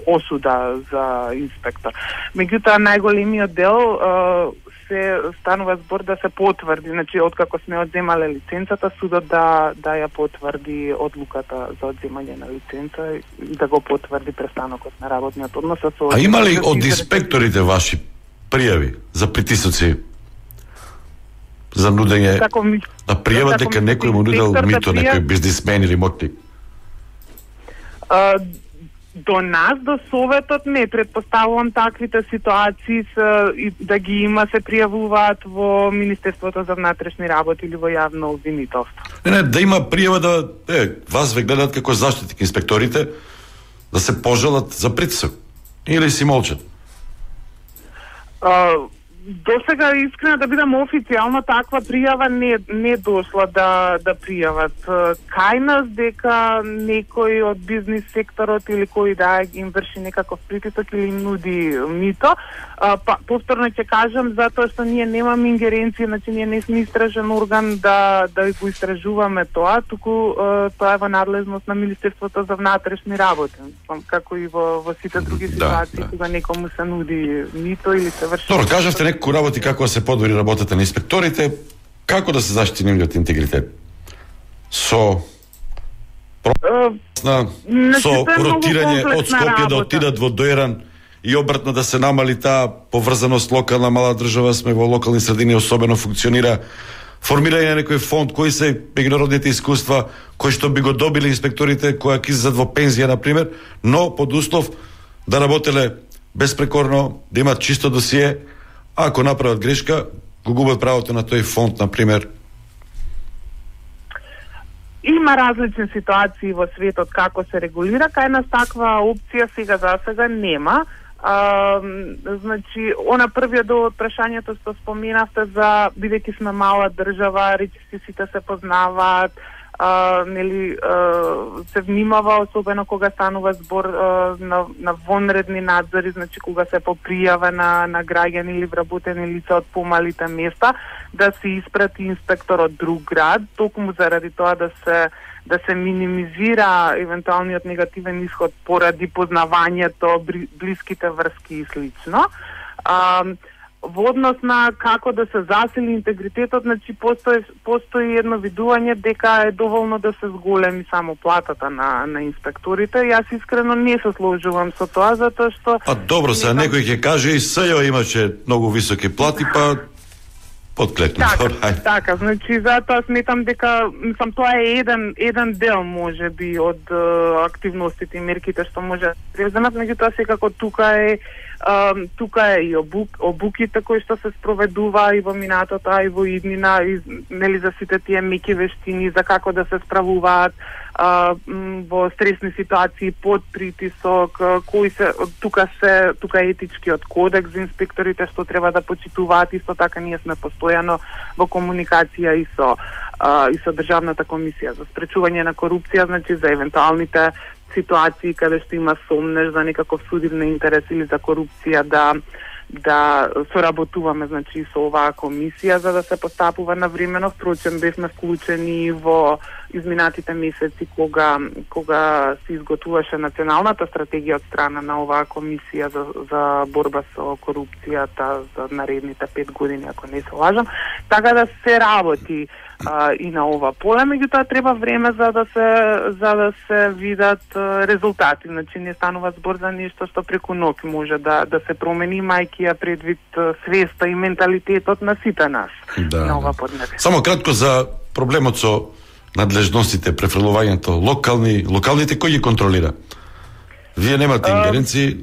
осуда за инспектор. Меѓутоа, најголемиот дел се станува збор да се потврди, значи откако сме одземале лиценцата, судот да ја потврди одлуката за одземање на лиценца и да го потврди престанокот на работниот однос. А има ли од инспекторите ваши пријави за притисоци, за нудење на пријава дека некој му нудел мито, некој бизнисмен или мотник? До нас, до Советот не, предпоставувам таквите ситуации да ги има, се пријавуваат во Министерството за внатрешни работи или во јавно обвинителство. Не, да има пријава да вас ве гледаат како заштитник инспекторите, да се пожалат за притисок или си молчат? До сега, искрено да бидам официјално, таква пријава не дошла да пријават кај нас дека некој од бизнис секторот или кој да им врши некаков притисок или им нуди мито. Повторно ќе кажам, затоа што ние немаме ингеренција, значи ние не сме истражен орган да го истражуваме тоа, туку тоа е во надлежност на Министерството за внатрешни работи, како и во сите други ситуации кога некому се нуди мито или се врши. Добро, кажавте некои работи како да се подобри работата на инспекторите, како да се заштити нивниот интегритет? Со ротирање од Скопје да отидат во Дојран и обратно да се намали таа поврзаност локална мала држава, сме во локални средини особено функционира формирање на некој фонд, кои се меѓународните искуства кои што би го добили инспекторите кои ќе излезат во пензија на пример, но под услов да работеле безпрекорно, да имат чисто досие. Ако направат грешка, го губат правото на тој фонд, на пример. Има различни ситуации во светот како се регулира, кај нас таква опција сега за сега нема. Значи, она првиот дел од прашањето што споменавте за бидејќи сме мала држава, речиси сите се познаваат, нели се внимава особено кога станува збор на вонредни надзори, значи кога се по пријава на граѓани или вработени лица од помалите места, да се испрати инспектор од друг град, токму заради тоа да се минимизира евентуалниот негативен исход поради познавањето, блиските врски и слично. Во однос на како да се засили интегритетот, значи постои едно видување дека е доволно да се зголеми само платата на инспекторите. Јас искрено не се сложувам со тоа, затоа што... Добро, сега некој ќе каже и СЈО имаше многу високи плати, па подклекнат. Така, значи затоа сметам дека тоа е еден дел можеби од активностите и мерките што може да преземат, меѓутоа секако тука е и обуките кои што се спроведува и во минатото, и во иднина, и нели за сите тие меки вештини за како да се справуваат во стресни ситуации под притисок, кои се тука е етичкиот кодекс за инспекторите што треба да почитуваат. Исто така ние сме постојано во комуникација и со Државната комисија за спречување на корупција, значи за евентуалните ситуации каде што има сомнеж за некаков судивен интерес или за корупција да соработуваме, значи со оваа комисија за да се постапува навремено. Впрочем, бевме вклучени во изминатите месеци кога се изготвуваше националната стратегија од страна на оваа комисија за борба со корупцијата за наредните 5 години, ако не се лажам. Така да се работи и на ова поле, меѓутоа треба време за да се видат резултати. Значи не станува збор за нешто што преку ноќ може да се промени, мајки ја предвид свеста и менталитетот на сите нас на ова поднебие. Само кратко за проблемот со надлежностите, префрлувањето, локалните кој ги контролира? Вие немате ингеренции,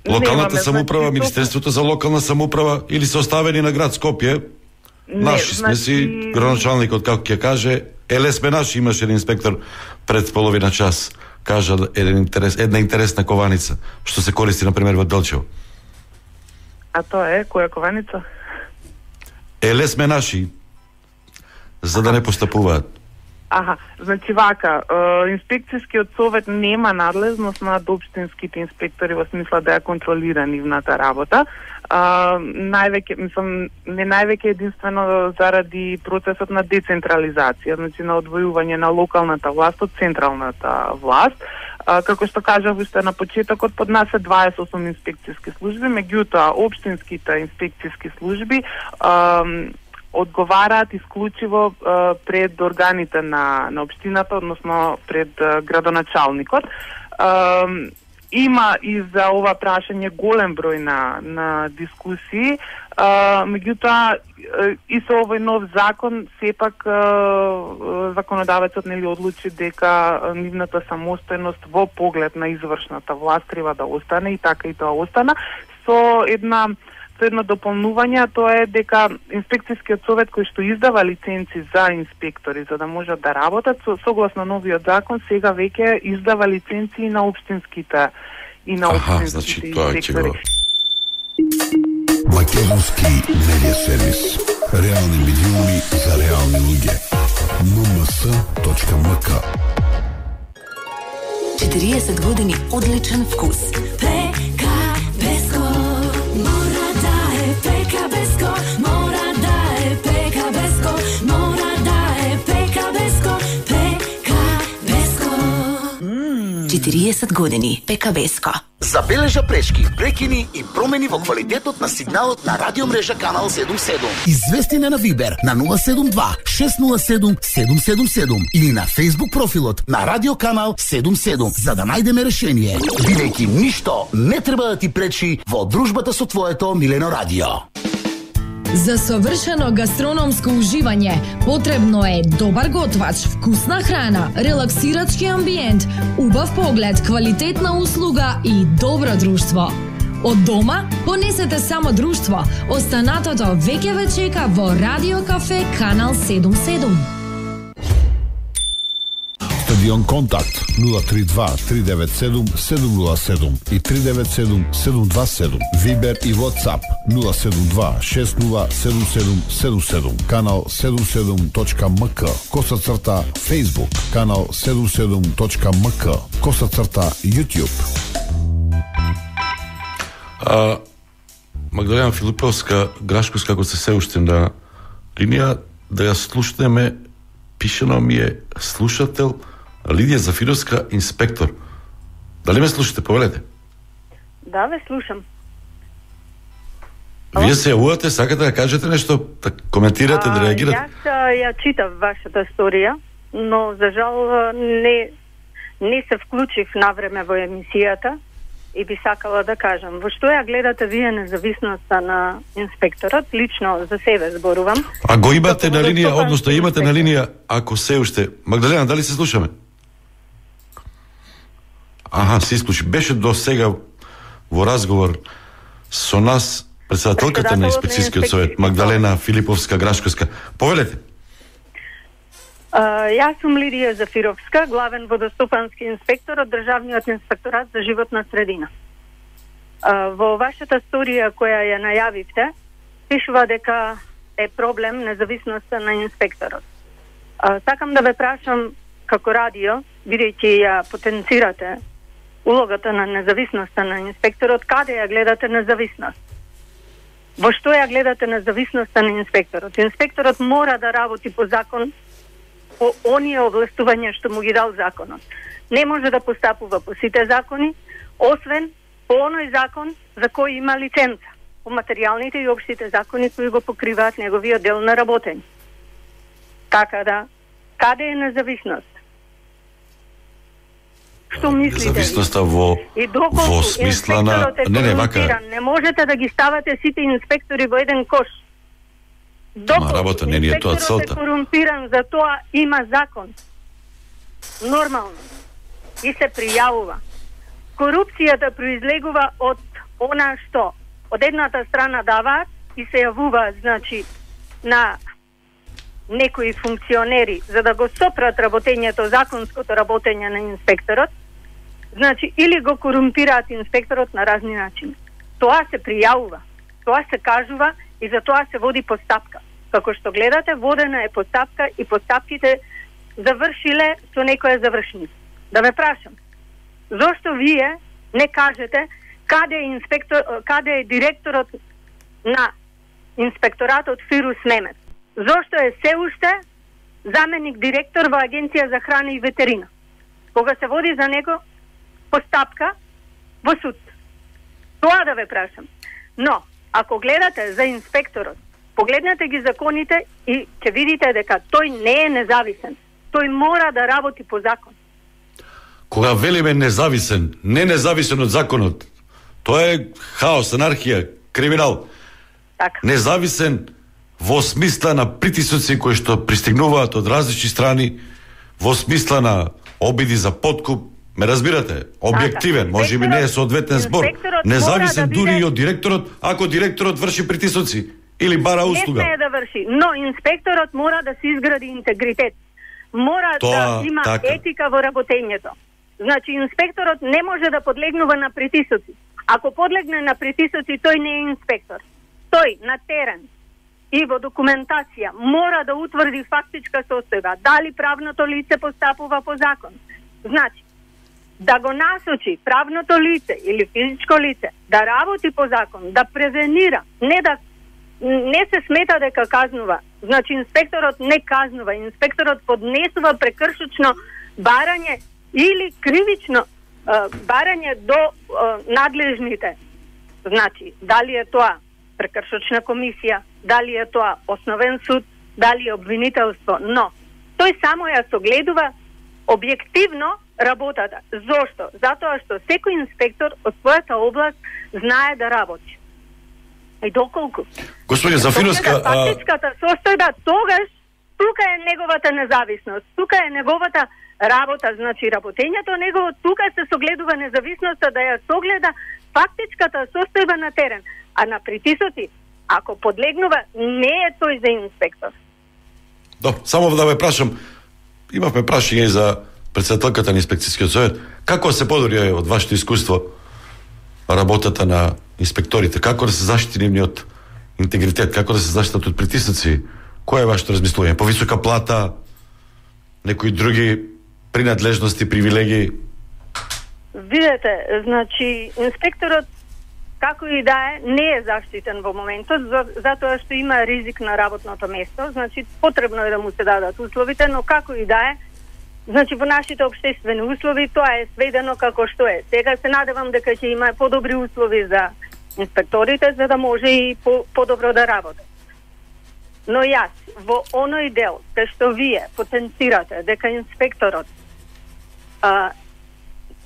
локалната самоуправа, Министерството за локална самоуправа или се оставени на град Скопје? Наши сме си, градоначалникот како ќе каже, сме наши, имаше еден инспектор пред половина час, кажа една интересна кованица, што се користи, например, во Делчево. А тоа е, која кованица? Сме наши, за да не постапуваат. Значи вака, инспекцијскиот совет нема надлежност над општинските инспектори во смисла да ја контролира нивната работа. Највеќе, не највеќе единствено заради процесот на децентрализација, значи на одвојување на локалната власт од централната власт. Како што кажав уште на почетокот, под нас е 28 инспекцијски служби, меѓутоа општинските инспекцијски служби одговараат исклучиво пред органите на општината, односно пред градоначалникот. Има и за ова прашање голем број на дискусии, меѓутоа и со овој нов закон сепак законодавецот нели одлучи дека нивната самостојност во поглед на извршната власт треба да остане и така и тоа остана со едно дополнување, тоа е дека инспекцијскиот совет кој што издава лиценци за инспектори за да можат да работат, согласно новиот закон сега веќе издава лиценци и на општинските значи тоа инспектори. Македонски медиа сервис. Реални медиуми за реални луѓе. nms.mk 40 години одличен вкус. Пекабеско мора да е Пекабеско, мора да е Пекабеско, мора да е Пекабеско, Пекабеско. 40 години Пекабеско. Забележа пречки, прекини и промени во квалитетот на сигналот на радиомрежа Канал 77. Извести на Вибер на 072 607 777 или на Facebook профилот на Радио Канал 77 за да најдеме решение. Бидејќи ништо не треба да ти пречи во дружбата со твоето милено радио. За совршено гастрономско уживање потребно е добар готвач, вкусна храна, релаксирачки амбиент, убав поглед, квалитетна услуга и добро друштво. Од дома понесете само друштво. Останатото веќе ве чека во Радио Кафе Канал 77. Стадион Контакт 032 397 707 и 397 727. Вибер и WhatsApp 072 607777. Канал 77.mk. _. Facebook. Канал 77.mk. _ YouTube. Магдалена Филиповска Грашковска, ако се уште на линија, да ја слушнеме, пишено ми е слушател Лидија Зафировска, инспектор. Дали ме слушате? Повелете. Да, ве слушам. Вие се јавувате, сакате да кажете нешто, да коментирате, да реагирате? Јас ја читав вашата сторија, но за жал не се вклучив навреме во емисијата и би сакала да кажам. Во што ја гледате вие независноста на инспекторот? Лично за себе зборувам. А го имате на линија, односно имате на линија, ако се уште. Магдалена, дали се слушаме? Се исклучи. Беше до сега во разговор со нас председателката на инспекцијскиот совет, Магдалена Филиповска Грашковска. Повелете. Јас сум Лидија Зафировска, главен водостопански инспектор од Државниот инспекторат за животна средина. Во вашата сторија која ја најавивте, пишува дека е проблем независноста на инспекторот. Сакам да ве прашам како радио, бидејќи ја потенцирате улогата на независноста на инспекторот, каде ја гледате независност? Во што ја гледате независноста на инспекторот? Инспекторот мора да работи по закон, по оние овластувања што му ги дал законот. Не може да постапува по сите закони, освен по оној закон за кој има лиценца, по материјалните и општите закони кои го покриваат неговиот дел на работење. Така да, каде е независност? Што мислите? Независноста во смисла на... Не можете да ги ставате сите инспектори во еден кош. Работа не е тоа целта. Инспекторот е корумпиран, за тоа има закон. Нормално. И се пријавува. Корупцијата произлегува од она што од едната страна даваат и се јавуваат, значи, на некои функционери за да го сопрат работењето, законското работење на инспекторот, значи, или го корумпираат инспекторот на разни начини. Тоа се пријавува, тоа се кажува и за тоа се води постапка. Како што гледате, водена е постапка и постапките завршиле со некоја завршница. Да ве прашам, зошто вие не кажете каде е директорот на инспекторатот Фирус Немец? Зошто е се уште заменик директор во Агенција за храна и ветерина, кога се води за него постапка во суд? Тоа да ве прашам. Но, ако гледате за инспекторот, погледнете ги законите и ќе видите дека тој не е независен. Тој мора да работи по закон. Кога велиме независен, не независен од законот, тоа е хаос, анархија, криминал. Така. Независен во смисла на притисоци кои што пристигнуваат од различни страни, во смисла на обиди за подкуп, ме разбирате? Објективен, може би не е соодветен збор. Независен дури и од директорот, ако директорот врши притисоци или бара услуга. Не смее да врши, но инспекторот мора да се изгради интегритет. Мора да има етика во работењето. Значи, инспекторот не може да подлегнува на притисоци. Ако подлегне на притисоци, тој не е инспектор. Тој на терен и во документација мора да утврди фактичка состојба, дали правното лице постапува по закон. Значи, да го насочи правното лице или физичко лице да работи по закон, да превенира, не се смета дека казнува. Значи, инспекторот не казнува, инспекторот поднесува прекршечно барање или кривично барање до надлежните. Значи, дали е тоа прекршочна комисија, дали е тоа основен суд, дали е обвинителство, но тој само ја согледува објективно работата. Зошто? Затоа што секој инспектор од својата област знае да работи. И доколку Господине Зафировска, фактичката состојба, тогаш тука е неговата независност, тука е неговата работа, значи работењето негово, тука се согледува независноста да ја согледа фактичката состојба на терен. А на притисоци, ако подлегнува, не е тој за инспектор. Само да ве прашам, имавме прашање и за председателката на инспекцијскиот совет. Како се подобри од вашето искуство работата на инспекторите? Како да се заштити нивниот интегритет? Како да се заштитат од притисоци? Кој е вашето размислување? Повисока плата? Некои други принадлежности, привилегии? Видете, значи, инспекторот како и да е, не е заштитен во моментот, затоа што има ризик на работното место, значи потребно е да му се дадат условите, но како и да е, значи во нашите општествени услови тоа е сведено како што е. Сега се надевам дека ќе има подобри услови за инспекторите, за да може и подобро да работат. Но јас, во оној дел, кај што вие потенцирате дека инспекторот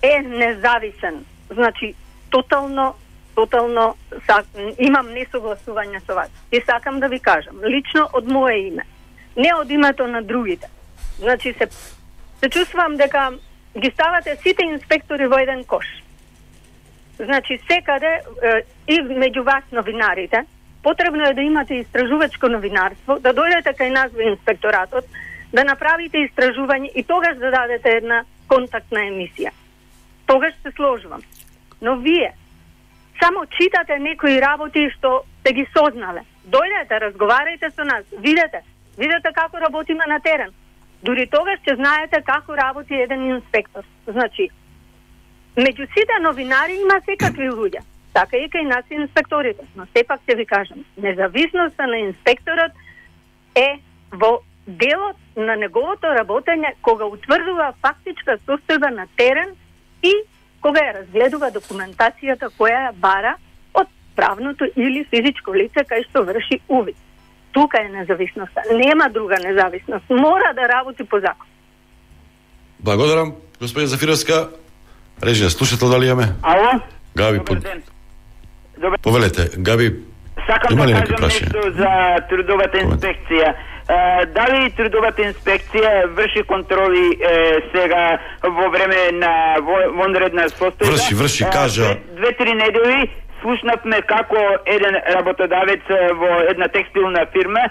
е независен, значи тотално имам несогласување со вас. И сакам да ви кажам, лично од мое име, не од името на другите. Значи се чувствувам дека ги ставате сите инспектори во еден кош. Значи секаде и меѓу вас новинарите, потребно е да имате истражувачко новинарство, да дојдете кај нас во инспекторатот, да направите истражување и тогаш да дадете една контактна емисија. Тогаш се сложувам. Но вие само читате некои работи што сте ги сознале. Дојдете, разговарајте со нас, видете како работиме на терен. Дури тогаш ќе знаете како работи еден инспектор. Значи, меѓу сите новинари има секакви луѓе. Така и кај нас инспекторите. Но сепак ќе ви кажам, независноста на инспекторот е во делот на неговото работење кога утврдува фактичка состојба на терен и кога ја разгледува документацијата која ја бара од правното или физичко лице кај што врши увид. Тука е независноста. Нема друга независност. Мора да работи по закон. Благодарам, господин Зафировска. Режија, слушател дали имаме? Ало? Габи, повелете. Габи, има ли некој прашање? Нешто за трудовата инспекција. Дали трудовата инспекција врши контроли сега во време на вонредна состојба? Врши, кажа. 2-3 недели слушнавме како еден работодавец во една текстилна фирма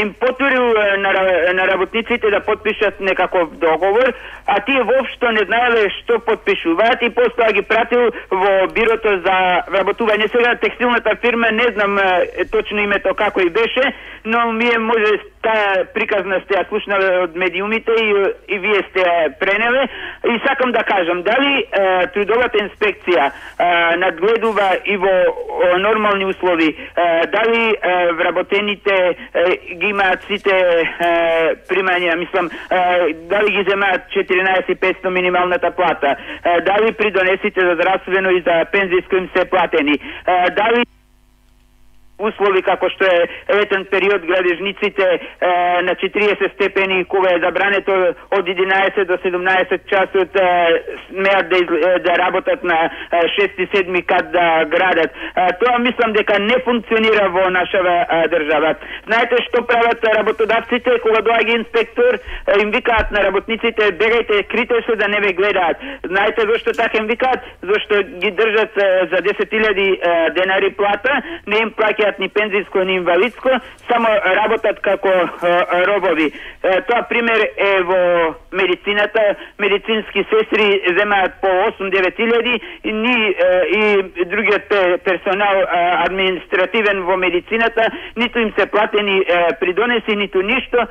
им потурил на работниците да потпишат некаков договор, а тие воопшто не знаеле што потпишуваат и после ги пратил во бирото за работување. Сега текстилната фирма, не знам точно името како и беше, но ми е може таа приказна сте ја слушнале од медиумите и вие сте ја пренеле. И сакам да кажам, дали трудовата инспекција надгледува и во нормални услови, дали вработените ги имаат сите примања, мислам, дали ги земаат 14.500 минималната плата, дали придонесите за здравствено и за пензиско им се платени, дали услови како што е летен период градежниците на 40 степени кога е забрането од 11 до 17 часот смеат да работат на 6-7 кат да градат. Тоа мислам дека не функционира во нашава држава. Знаете што прават работодавците кога доаѓа инспектор, им викаат на работниците бегајте, крите се да не ве гледаат. Знаете зошто така им викаат? Зошто ги држат за 10.000 денари плата, не им плаќаат ни пензиско, ни инвалидско, само работат како робови. Тоа пример е во медицината. Медицински сестри земаат по 8-9 илјади и другиот персонал административен во медицината, ниту им се платени придонеси, ниту ништо,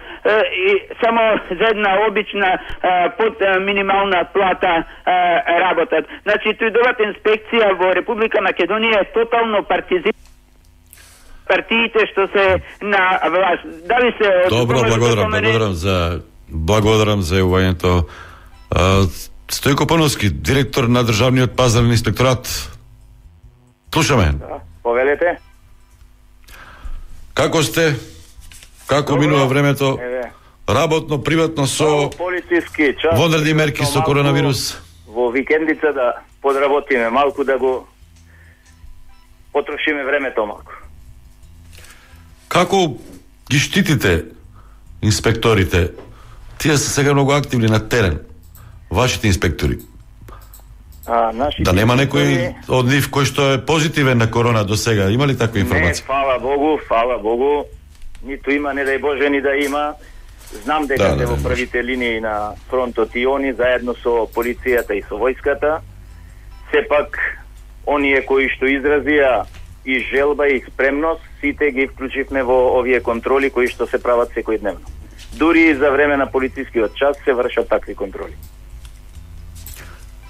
и само за една обична под минимална плата работат. Значи, трудовата инспекција во Република Македонија е тотално партизирана. Партиите што се на власт. Дали се Добро, благодарам за јавувањето. Стојко Пановски, директор на Државниот пазарен инспекторат. Слушаме. Да, повелете. Како сте? Како минува времето? Работно, приватно со полициски час. Вонредни мерки со коронавирус. Во викендица да подработиме малку, да го потрошиме времето малку. Како ги штитите инспекторите? Тие се сега многу активни на терен. Вашите инспектори. Да нема некој од нив кој што е позитивен на корона до сега? Има ли таква информација? Не, фала Богу. Ниту има, не дај Боже, ни да има. Знам дека се во првите линии на фронтот и они, заедно со полицијата и со војската. Сепак, оние кои што изразија и желба и спремност, сите ги вклучивме во овие контроли кои што се прават секојдневно. Дури и за време на полицискиот час се вршат такви контроли.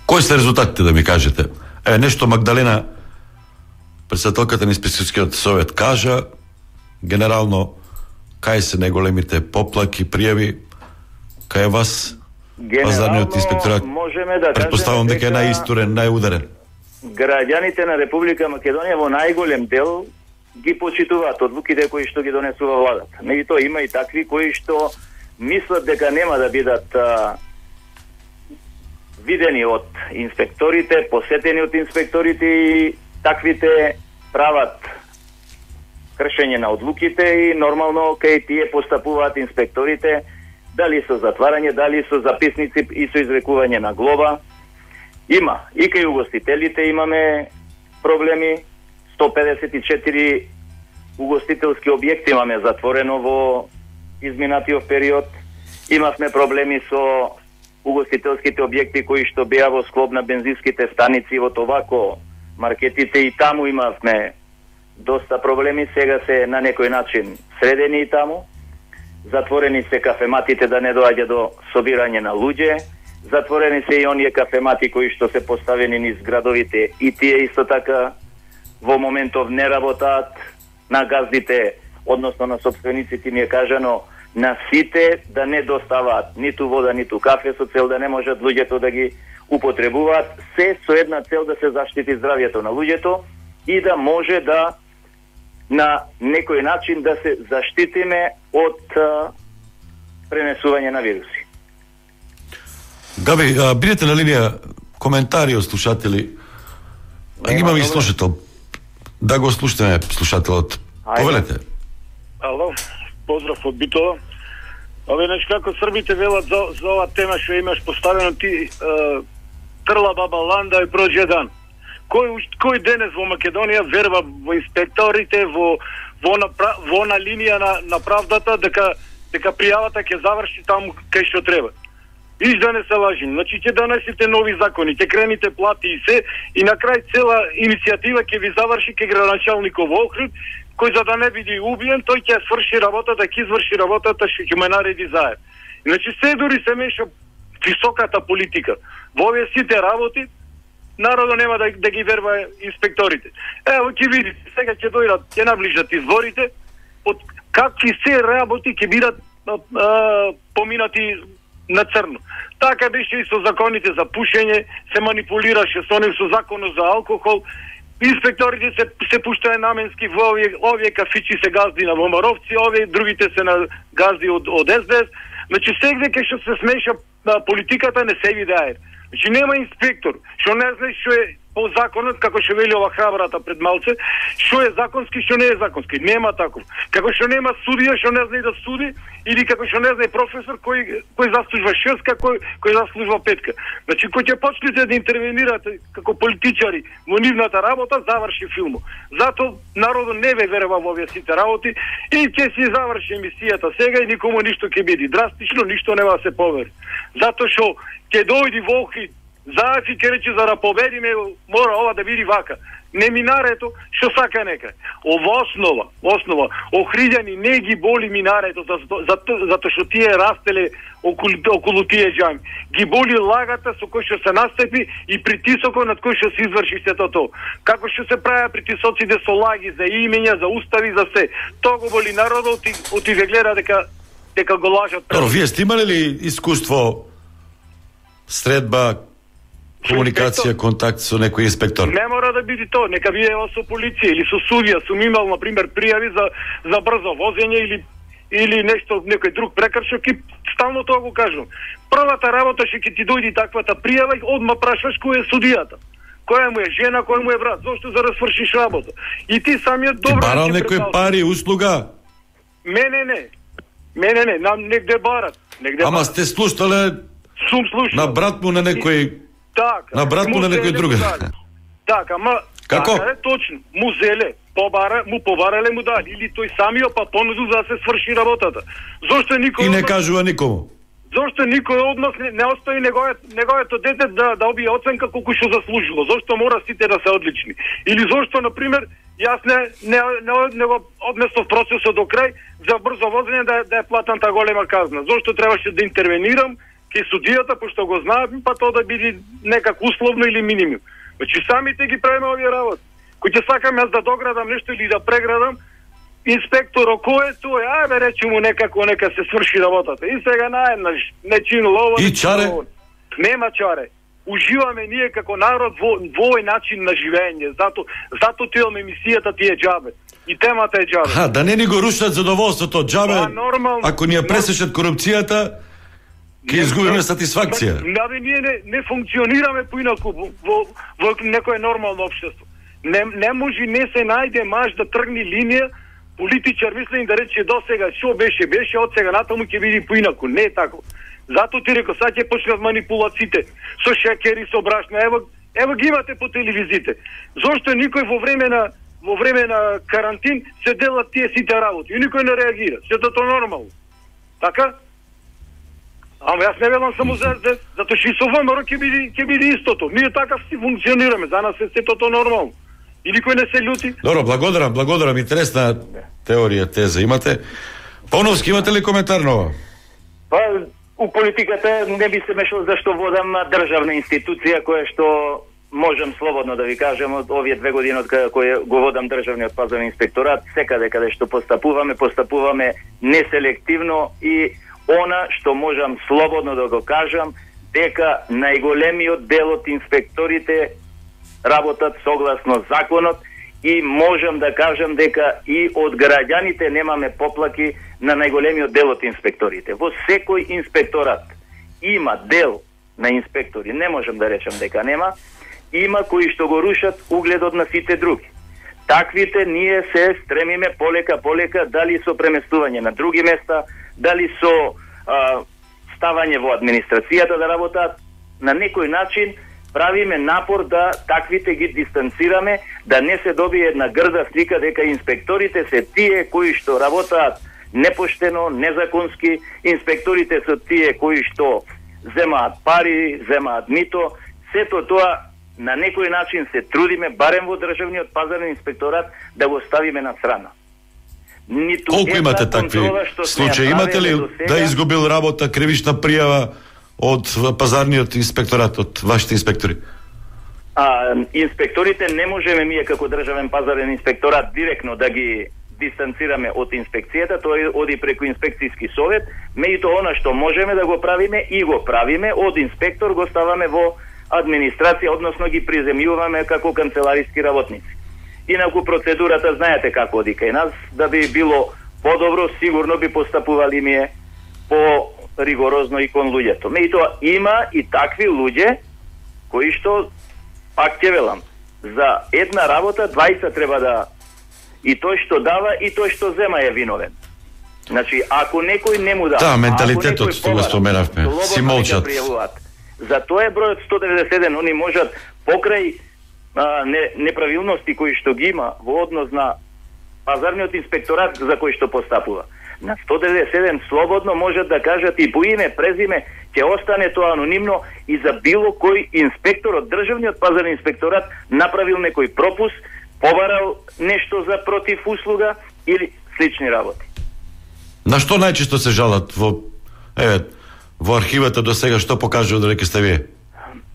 Кои се резултатите, да ми кажете? Нешто Магдалена, председателката на инспекцијскиот совет, кажа, генерално, кај се најголемите поплаки, пријави, кај вас, пазарниот инспекторат, да предпоставам дека е најистурен, најударен. Граѓаните на Република Македонија во најголем дел ги почитуваат одлуките кои што ги донесува владата. Меѓутоа има и такви кои што мислат дека нема да бидат видени од инспекторите, посетени од инспекторите, и таквите прават кршење на одлуките и нормално кај тие постапуваат инспекторите, дали со затварање, дали со записници и со изрекување на глоба. Има. И кај угостителите имаме проблеми. 154 угостителски објекти имаме затворено во изминатиот период. Имавме проблеми со угостителските објекти кои што беа во склоп на бензинските станици, во Товако, маркетите, и таму имавме доста проблеми. Сега се на некој начин средени и таму. Затворени се кафематите да не доаѓа до собирање на луѓе. Затворени се и оние кафемати кои што се поставени низ градовите, и тие исто така во моментов не работаат. На газдите, односно на собствениците, ми е кажано на сите да не доставаат ниту вода, ниту кафе, со цел да не можат луѓето да ги употребуваат, се со една цел да се заштити здравјето на луѓето и да може да на некој начин да се заштитиме од пренесување на вируси. Габи, бидете на линија, коментари од слушатели. Имаме и слушател. Да го слушаме слушателот. Повелете. Ало, поздрав од Битола. Значи, како србите велат за ова тема што имаш поставено ти, трла баба ланда и проđe дан. Кој денес во Македонија верва во инспекторите, во на линија на правдата, дека пријавата ќе заврши таму кај што треба. Иш да не се лажи. Значи, ќе донесите нови закони, ќе крените плати и се, и на крај цела иницијатива ќе ви заврши кај градоначалников округ, кој за да не биде убиен, тој ќе сврши работата, ќе изврши работата, што ќе ме нареди заед. Значи се дури се меша високата политика. Во овие сите работи народот нема да ги верва инспекторите. Ево ќе видите, сега ќе дојдат, ќе наближат изборите, од какви се работи ќе бидат поминати на црно. Така беше и со законите за пушење, се манипулираше со нив, со законот за алкохол. Инспекторите се пуштаја наменски во овие кафичи се газди на ВМРО-вци, овие другите се на газди од СДС. Значи сегде кај што се смеша политиката не се видее. Значи нема инспектор што не знае што е по законот, како што вели ова храбрата пред малце, што е законски, што не е законски. Нема таков. Како што нема судија што не знае да суди, или како што не знае професор кој заслужува 6, кој заслужува 5. Значи кој ќе почнете да интервенирате како политичари во нивната работа, заврши филмот. Зато народот не ве верува во овие сите работи и ќе си заврши емисијата сега и никому ништо ќе биде. Драстично ништо нема да се повери. Затоа што ќе дојди Волхи Заев и ќе рече за да победиме, мора ова да биде вака. Не минарето, што сака нека. Ова основа, охриѓани не ги боли минарето, затоа што тие растеле околу тие џами. Ги боли лагата со кој што се настапи и притисокот над кој што се изврши сето тоа. Како што се правеа притисоците со лаги за имења, за устави, за се. Тоа го боли народот и ве гледа дека го лажат. Вие сте имале ли искуство, средба, комуникација, контакт со некој инспектор? Не мора да биде тоа, нека биде со полиција или со судија. Сум имал, например, пријави за брзо возење или нешто, некој друг прекршок и стално тоа го кажувам. Првата работа што ќе ти дојде таквата пријава, одма прашаш кој е судијата. Која му е жена, кој му е брат, зошто за да свршиш работа. И ти самиот добро... Ти барал некој пари, услуга? Мене не, нам негде барат. Ама сте слушале... Сум слушал. На брат му на некој... Така. На брат му на некој друг. Така, ама... Како? Така е точно. Му зеле, му побарале му дали. Или тој самиот па понуду за да се сврши работата. Зошто никој... И не кажува никому. Зошто никој од нас не остави неговото дете да обие оценка колку што заслужило? Зошто мора сите да се одлични? Или зошто, например, јас не го однесов процесот до крај за брзо возење да е платната голема казна? Зошто требаше да интервенирам кај судијата, пошто го знаат, па тоа да биде некако условно или минимум. Значи самите ги правиме овие работи. Кој ќе сакам јас да доградам нешто или да преградам, инспектор кој е тој, ајде речемо нека се сврши работата. И сега наеднаш не чинул ова. И чаре? Нема чаре. Уживаме ние како народ во овој начин на живење. Зато имаме емисијата ти е џабе. И темата е џабе. Да не ни го рушат задоволството џабе. Нормално. Ако ни ја пресечат корупцијата, ќе изгубиме сатисфакција. Ние не функционираме поинаку во некое нормално општество. Не може, не се најде маж да тргни линија, политичар мислим да рече до сега што беше, од сега натаму ќе биде поинаку. Не е тако. Зато ти реко, сега ќе почнат манипулациите со шекери, со брашна. Ево ги имате по телевизиите. Зошто никој во време на карантин се делат тие сите работи и никој не реагира. Сето тоа нормално. Така? Ама јас не велам само за СДС, затоа што и со ВМРО ќе биде истото. Ние така си функционираме, за нас е сето тоа нормално. И никој не се љути. Добро, благодарам, интересна теорија, теза имате. Поновски, имате ли коментар нова? Па, у политиката не би се мешал зашто водам државна институција која што можам слободно да ви кажам од овие 2 години од која го водам државниот пазарен инспекторат, секаде каде што постапуваме неселективно и она што можам слободно да го кажам, дека најголемиот дел од инспекторите работат согласно законот и можам да кажам дека и од граѓаните немаме поплаки на најголемиот дел од инспекторите. Во секој инспекторат има дел на инспектори, не можам да речам дека нема, има кои што го рушат угледот на сите други. Таквите ние се стремиме полека, дали со преместување на други места, дали со ставање во администрацијата да работат, на некој начин правиме напор да таквите ги дистанцираме, да не се добие една грда слика дека инспекторите се тие кои што работаат непоштено, незаконски, инспекторите се тие кои што земаат пари, земаат мито. Сето тоа на некој начин се трудиме, барем во државниот пазарен инспекторат, да го ставиме на страна. ниту Колку имате такви случаи? Имате ли да изгубил работа, кривична пријава од пазарниот инспекторат, од вашите инспектори? Инспекторите не можеме ние како државен пазарен инспекторат директно да ги дистанцираме од инспекцијата, тој оди преку инспекцијски совет, меѓутоа она што можеме да го правиме и го правиме, од инспектор го ставаме во администрација, односно ги приземјуваме како канцелариски работници. Инаку процедурата знаете како оди кај нас, да би било подобро, сигурно би постапували ние по ригорозно и кон луѓето. Меѓутоа има и такви луѓе кои што, пак ќе велам, за една работа 20 треба да, и тој што дава и тој што зема е виновен. Значи, ако некој не му дава, менталитетот што го споменавме, си молчат. За тоа е бројот 191, они можат покрај неправилности кои што ги има во однос на пазарниот инспекторат за кој што постапува. На 197 слободно можат да кажат и по име, презиме, ќе остане тоа анонимно и за било кој инспектор од државниот пазарен инспекторат направил некој пропуск, побарал нешто за против услуга или слични работи. На што најчесто се жалат во архивата до сега, што покажува додека сте вие?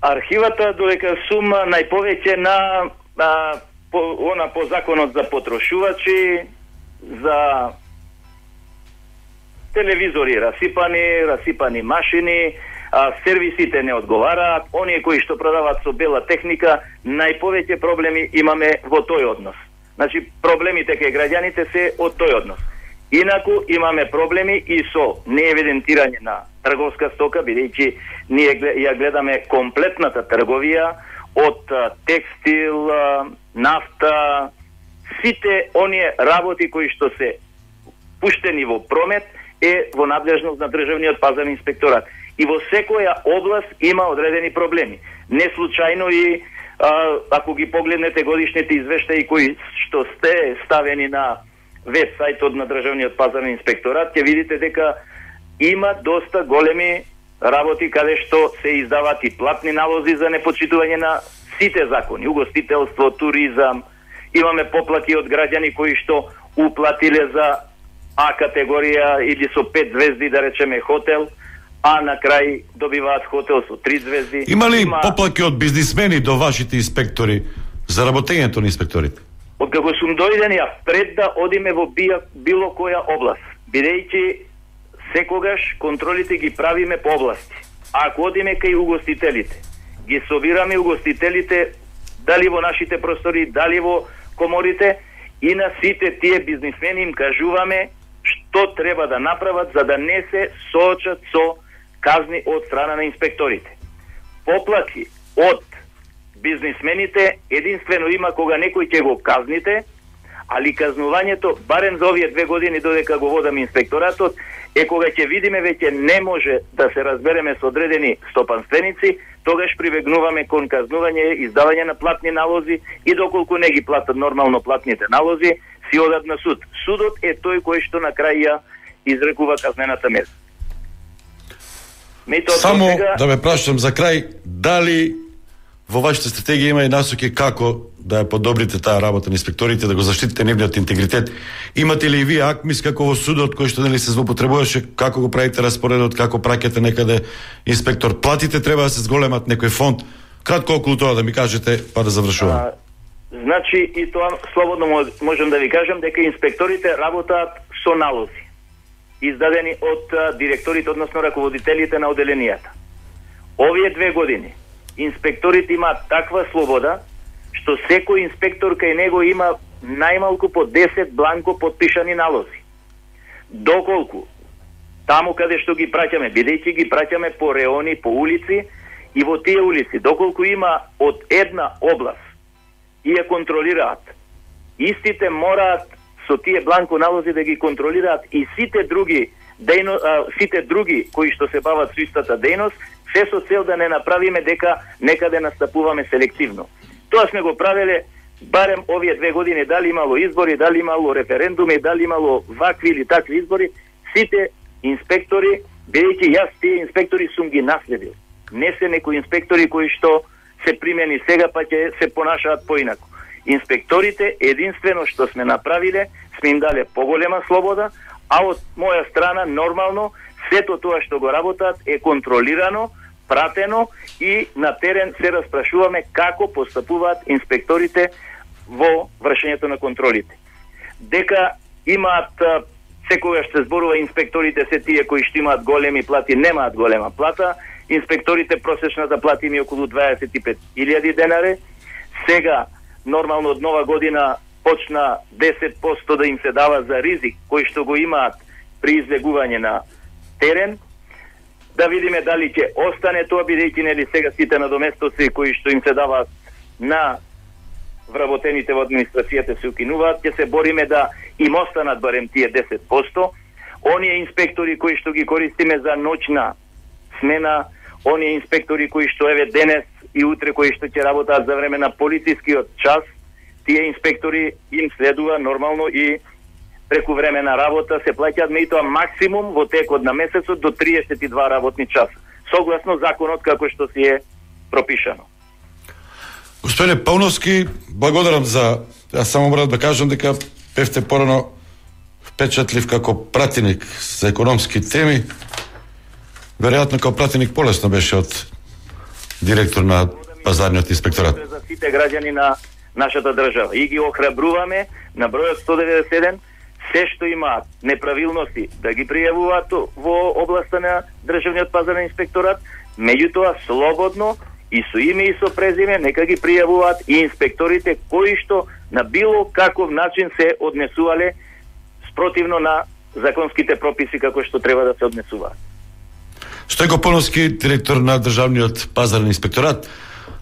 Архивата додека сум најповеќе на по законот за потрошувачи, за телевизори расипани машини, сервисите не одговараат, оние кои што продаваат со бела техника, најповеќе проблеми имаме во тој однос. Значи, проблемите кај граѓаните се од тој однос. Инаку имаме проблеми и со неевидентирање на трговска стока, бидејќи ние ја гледаме комплетната трговија од текстил, нафта, сите оние работи кои што се пуштени во промет е во надлежност на државниот пазарен инспекторат. И во секоја област има одредени проблеми. Не случајно и ако ги погледнете годишните извештаи кои што сте ставени на веб сајтот на државниот пазарен инспекторат, ќе видите дека има доста големи работи каде што се издаваат и платни налози за непочитување на сите закони, угостителство, туризам. Имаме поплати од граѓани кои што уплатиле за А категорија или со 5 звезди, да речеме хотел, а на крај добиваат хотел со 3 звезди. Има ли поплаки од бизнисмени до вашите инспектори за работењето на инспекторите? Од како сум дојден ја пред да одиме во било која област, бидејќи секогаш контролите ги правиме по области. Ако одиме кај угостителите, ги собираме угостителите дали во нашите простори, дали во коморите, и на сите тие бизнисмени им кажуваме што треба да направат за да не се соочат со казни од страна на инспекторите. Поплати од бизнисмените единствено има кога некој ќе го казните, али казнувањето, барем за овие 2 години додека го водам инспекторатот, е кога ќе видиме веќе не може да се разбереме со одредени стопанственици, тогаш прибегнуваме кон казнување, издавање на платни налози и доколку не ги платат нормално платните налози, си одат на суд. Судот е тој кој што на крај ја изрекува казнената мера. Само да ме прашам за крај, дали во вашата стратегија има и насоки како да ја подобрите таа работа на инспекторите, да го заштитите нивниот интегритет? Имате ли вие акмис како во судот кој што нели се злоупотребуваше, како го правите распоредот, како праќате некаде инспектор? Платите треба да се зголемат некој фонд? Кратко околу тоа да ми кажете, па да завршувам. Значи и тоа слободно можам да ви кажам дека инспекторите работаат со налози издадени од директорите, односно раководителите на оделенијата. Овие 2 години инспекторите имаат таква слобода што секој инспектор кај него има најмалку по 10 бланко подпишани налози. Доколку таму каде што ги праќаме, бидејќи ги праќаме по реони, по улици, и во тие улици, доколку има од една област и ја контролираат, истите мораат со тие бланко налози да ги контролираат и сите други кои што се бават со истата дејност, се со цел да не направиме дека некаде настапуваме селективно. Тоа сме го правеле барем овие 2 години, дали имало избори, дали имало референдуми, дали имало вакви или такви избори, сите инспектори, бидејќи јас тие инспектори сум ги наследил. Не се некои инспектори кои што се примени сега па ќе се понашаат поинаку. Инспекторите единствено што сме направиле, сме им дале поголема слобода, а од моја страна нормално сето тоа што го работат е контролирано, пратено и на терен се распрашуваме како постапуваат инспекторите во вршењето на контролите. Дека имаат, секогаш се зборува инспекторите се тие кои што имаат големи плати, немаат голема плата, инспекторите просечната плата им е околу 25.000 денари. Сега, нормално од нова година почна 10% да им се дава за ризик кои што го имаат при избегување на терен. Да видиме дали ќе остане тоа, бидејќи нели сега сите надоместоци кои што им се даваат на вработените во администрацијата се укинуваат, ќе се бориме да им останат барем тие 10%. Оние инспектори кои што ги користиме за ноќна смена, оние инспектори кои што еве денес и утре кои што ќе работат за време на полицискиот час, тие инспектори им следува нормално и преку време на работа се плаќаат меѓутоа максимум во текот на месецот до 32 работни часа, согласно законот како што си е пропишано. Господине Пауновски, благодарам за... Јас само морам да кажам дека бевте порано впечатлив како пратеник за економски теми. Веројатно како пратеник полесно беше од директор на пазарниот инспекторат. За сите граѓани на нашата држава. И ги охрабруваме на бројот 191, се што имаат неправилности да ги пријавуваат во областа на државниот пазарен инспекторат, меѓутоа слободно и со име и со презиме нека ги пријавуваат и инспекторите кои што на било каков начин се однесувале спротивно на законските прописи како што треба да се однесуваат. Стојко Пауновски, директор на државниот пазарен инспекторат.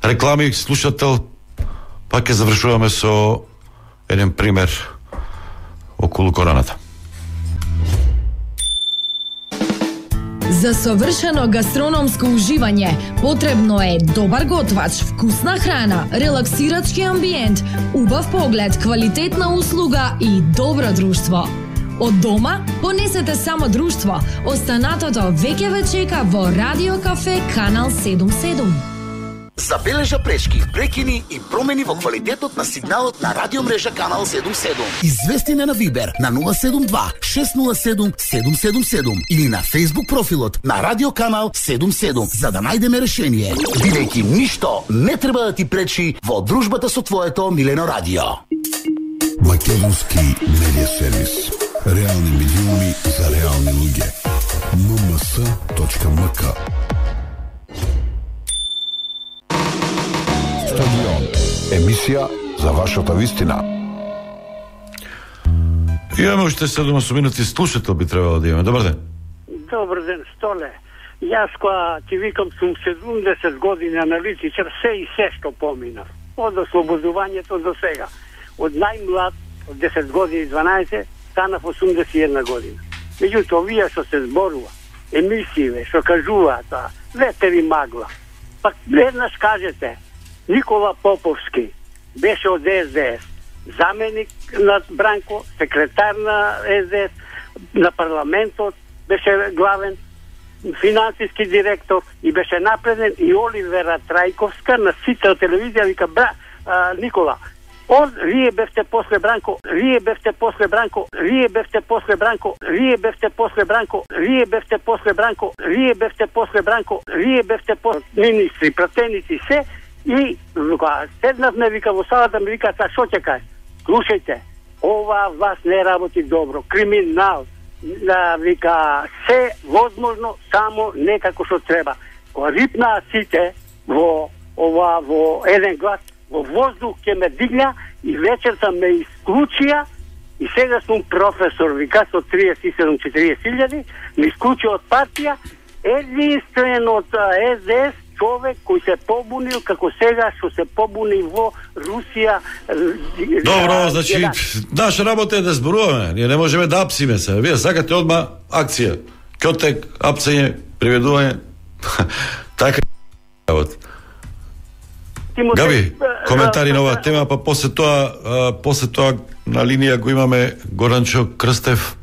Реклами, слушател, пак ќе завршуваме со еден пример околу короната. За совршено гастрономско уживање потребно е добар готвач, вкусна храна, релаксирачки амбиент, убав поглед, квалитетна услуга и добро друштво. Од дома понесете само друштво. Останатото веќе ве чека во Радио Кафе Канал 77. Забележа пречки, прекини и промени во квалитетот на сигналот на радиомрежа Канал 77. Извести на Вибер на 072 607 777 или на Facebook профилот на Радио Канал 77 за да најдеме решение. Бидејќи ништо не треба да ти пречи во дружбата со твоето милено радио. Македонски медиа сервис. Реални медиуми за реални луѓе. mms.mk. Стадион. Емисија за вашата вистина. Имаме уште 7 минути, слушател би требало да имаме. Добар ден. Добар ден, Столе. Јас која ти викам сум 70 години аналитичар, се и се што поминав. Од ослободувањето до сега. Од најмлад, од 10 години 12, станав 81 година. Меѓутоа, овие што се зборува, емисије, што кажуваат, ветер и магла. Пак веднаш кажете, Никола Поповски беше од СДС, заменик на Бранко, секретар на СДС, на парламентот, беше главен финансиски директор и беше напреден и Оливера Трајковска на сите телевизија вика Никола, вие бевте после Бранко, вие бевте после Бранко, вие бевте после Бранко, вие бевте после Бранко, вие бевте после Бранко, вие бевте после Бранко, вие бевте после министри, пратеници се и седнавме вика во салата, ми вика што ќе кажеш? Слушајте, ова власт не работи добро, криминал, вика се возможно, само некако што треба. Кога рипнаа сите во еден глас, во воздух ќе ме дигна и вечерта ме исклучија и сега сум професор, вика, со 37-40 ме исклучија од партија, единствен од СДС човек кој се побунил како сега што се побуни во Русија. Добро, значи, наша работа е да зборуваме. Ние не можеме да апсиме се. Вие сакате одма акција. Кјотек, апсење, приведување. Така работа. Габи, коментари на оваа тема, па после тоа на линија го имаме Горанчо Крстев,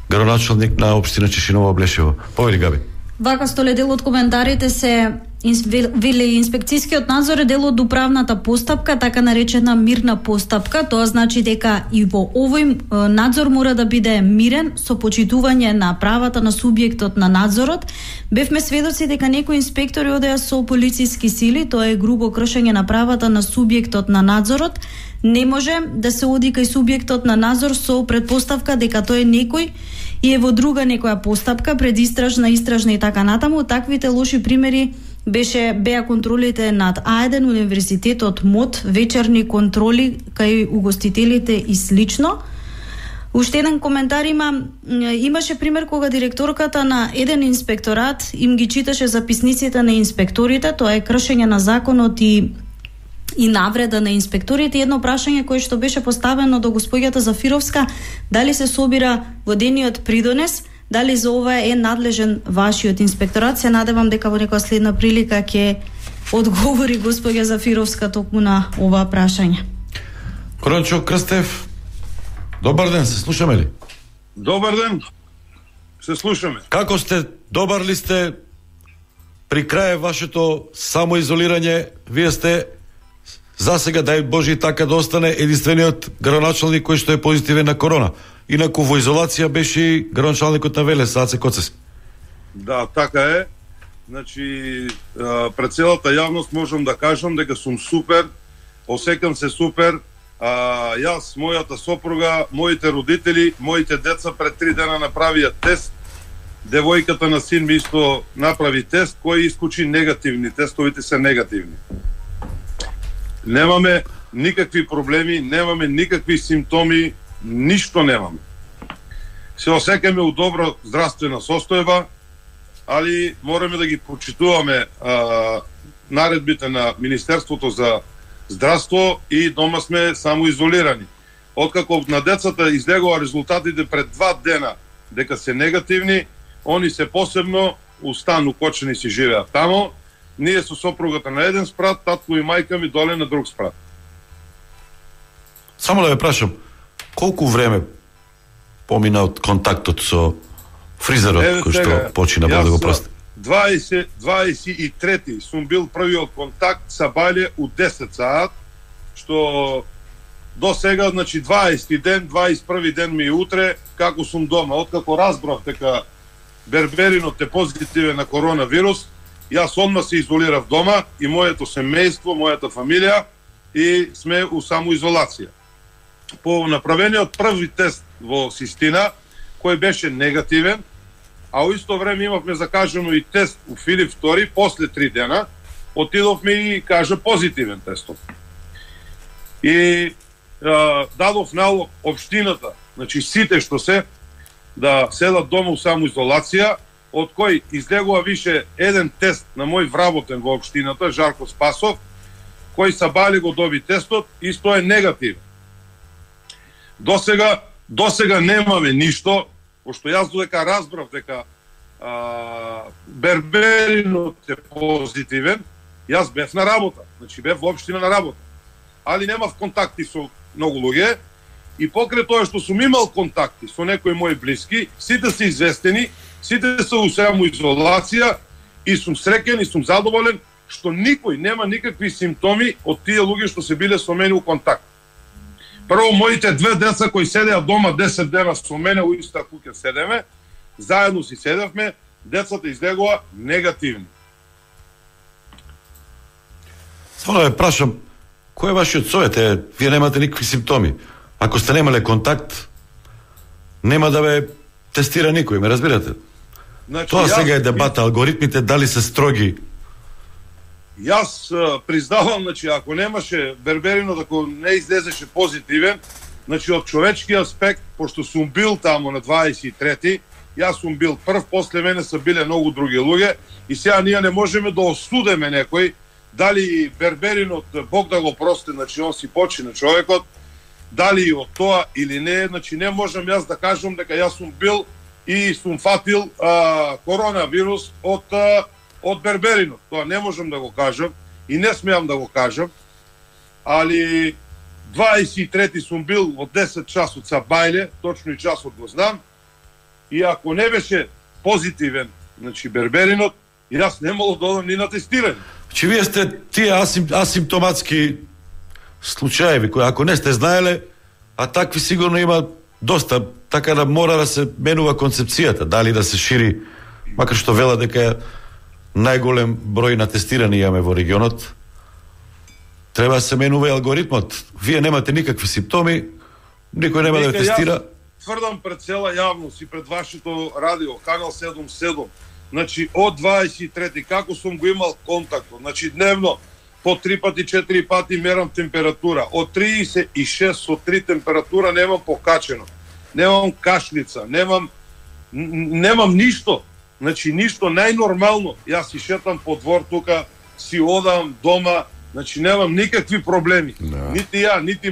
градоначалник на општина Чешиново Блешево. Повели, Габи. Вака, Столе, дел од коментарите се Вели инспекцијскиот надзор е дел од управната постапка, така наречена мирна постапка. Тоа значи дека и во овој надзор мора да биде мирен, со почитување на правата на субјектот на надзорот. Бевме сведоци дека некои инспектори одеа со полициски сили, тоа е грубо кршење на правата на субјектот на надзорот. Не може да се оди кај субјектот на надзор со предпоставка дека тој е некој и е во друга некоја постапка, предистражна, истражна и така натаму. Таквите лоши примери беа контролите над А1, Универзитетот МОД, вечерни контроли кај угостителите и слично. Уште еден коментар имаше пример кога директорката на еден инспекторат им ги читаше записниците на инспекторите, тоа е кршење на законот и навреда на инспекторите. Едно прашање кое што беше поставено до госпоѓата Зафировска, дали се собира во дениот придонес, дали за ова е надлежен вашиот инспекторат. Се надевам дека во некоја следна прилика ќе одговори госпоѓа Зафировска токму на ова прашање. Корончо Крстев, добар ден, се слушаме ли? Добар ден, се слушаме. Како сте, добар ли сте при крај вашето самоизолирање? Вие сте за сега, дај Божи, така да остане единствениот градоначалник кој што е позитивен на корона. Инаку во изолација беше и градоначалникот на Велес, Аце Коцес. Да, така е. Значи, пред целата јавност можам да кажам дека сум супер, осекам се супер. Јас, мојата сопруга, моите родители, моите деца пред 3 дена направија тест. Девојката на син ми исто направи тест, кој исклучи негативни. Тестовите се негативни. Немаме никакви проблеми, немаме никакви симптоми, ништо немаме. Се осекаме у добро здравствена состојба, али мораме да ги почитуваме наредбите на Министерството за здравство и дома сме само изолирани. Откако на децата излегува резултатите пред 2 дена дека се негативни, они се посебно у стан укочени си живеат тамо. Ние со сопругата на еден спрат, татко и мајка ми доле на друг спрат. Само да ве прашам, колку време помина од контактот со фризерот кој што почина да го прости? 23 сум бил првиот контакт са Бајле у 10 саат, што до сега, значи 20 ден, 21 ден ми е утре, како сум дома. Откако разбрав дека Берберинот е позитивен на коронавирус, јас одма се изолирав дома и моето семејство, мојата фамилија и сме у самоизолација. По направениот први тест во Систина, кој беше негативен, а во исто време имавме закажано и тест у Филип II, после 3 дена, отидовме и кажа позитивен тестот. И дадов налог општината, значи сите што се, да седат дома у самоизолација, од кој излегува више еден тест на мој вработен во општината, Жарко Спасов, кој са Бали го доби тестот, исто е негативен. До сега немаме ништо, пошто јас додека разбрав дека Берберинот е позитивен, јас бев на работа, значи бев во општина на работа. Али немав контакти со многу луѓе и покрај тоа што сум имал контакти со некои мои блиски, сите се известени, сите се у самоизолација и сум среќен и сум задоволен што никој нема никакви симптоми од тие луѓе што се биле со мене у контакт. Прво, моите 2 деца кои седеа дома 10 дена со мене у иста куќа седеме, заедно си седевме, децата излегува негативни. Само да ве прашам, кој е вашиот совет? Вие немате никакви симптоми. Ако сте немале контакт, нема да ве тестира никој, ме разбирате? Значи, тоа сега е дебата, алгоритмите дали се строги. Јас признавам, значи, ако немаше Берберинот, ако не излезеше позитивен, значи од човечки аспект, пошто сум бил тамо на 23-ти, јас сум бил прв, после мене са биле многу други луѓе и сега ние не можеме да осудеме некој, дали Берберинот, Бог да го прости, значи он си почина човекот, дали и од тоа или не, значи не можам јас да кажам дека јас сум бил и сум фатил коронавирус од Берберинот. Тоа не можам да го кажам и не смеам да го кажам, али 23-ти сум бил од 10 часот са Бајле, точно и часот го знам, и ако не беше позитивен, значи Берберинот, Јас немало да одам ни на тестирање. Че вие сте тие асимптоматски случаеви кои ако не сте знаеле, а такви сигурно има доста, така да мора да се менува концепцијата, дали да се шири, макар што вела дека најголем број на тестирани имаме во регионот, треба да се менува и алгоритмот. Вие немате никакви симптоми, никој нема да тестира. Јас тврдам пред цела јавност и пред вашето радио, канал 77, значи од 23 како сум го имал контактот, значи дневно по 3 пати, 4 пати мерам температура. Од 36 со 3 температура немам покачено. Немам кашлица, немам ништо. Значи ништо најнормално. Јас си шетам по двор тука, си одам дома, значи немам никакви проблеми. Нити ја, нити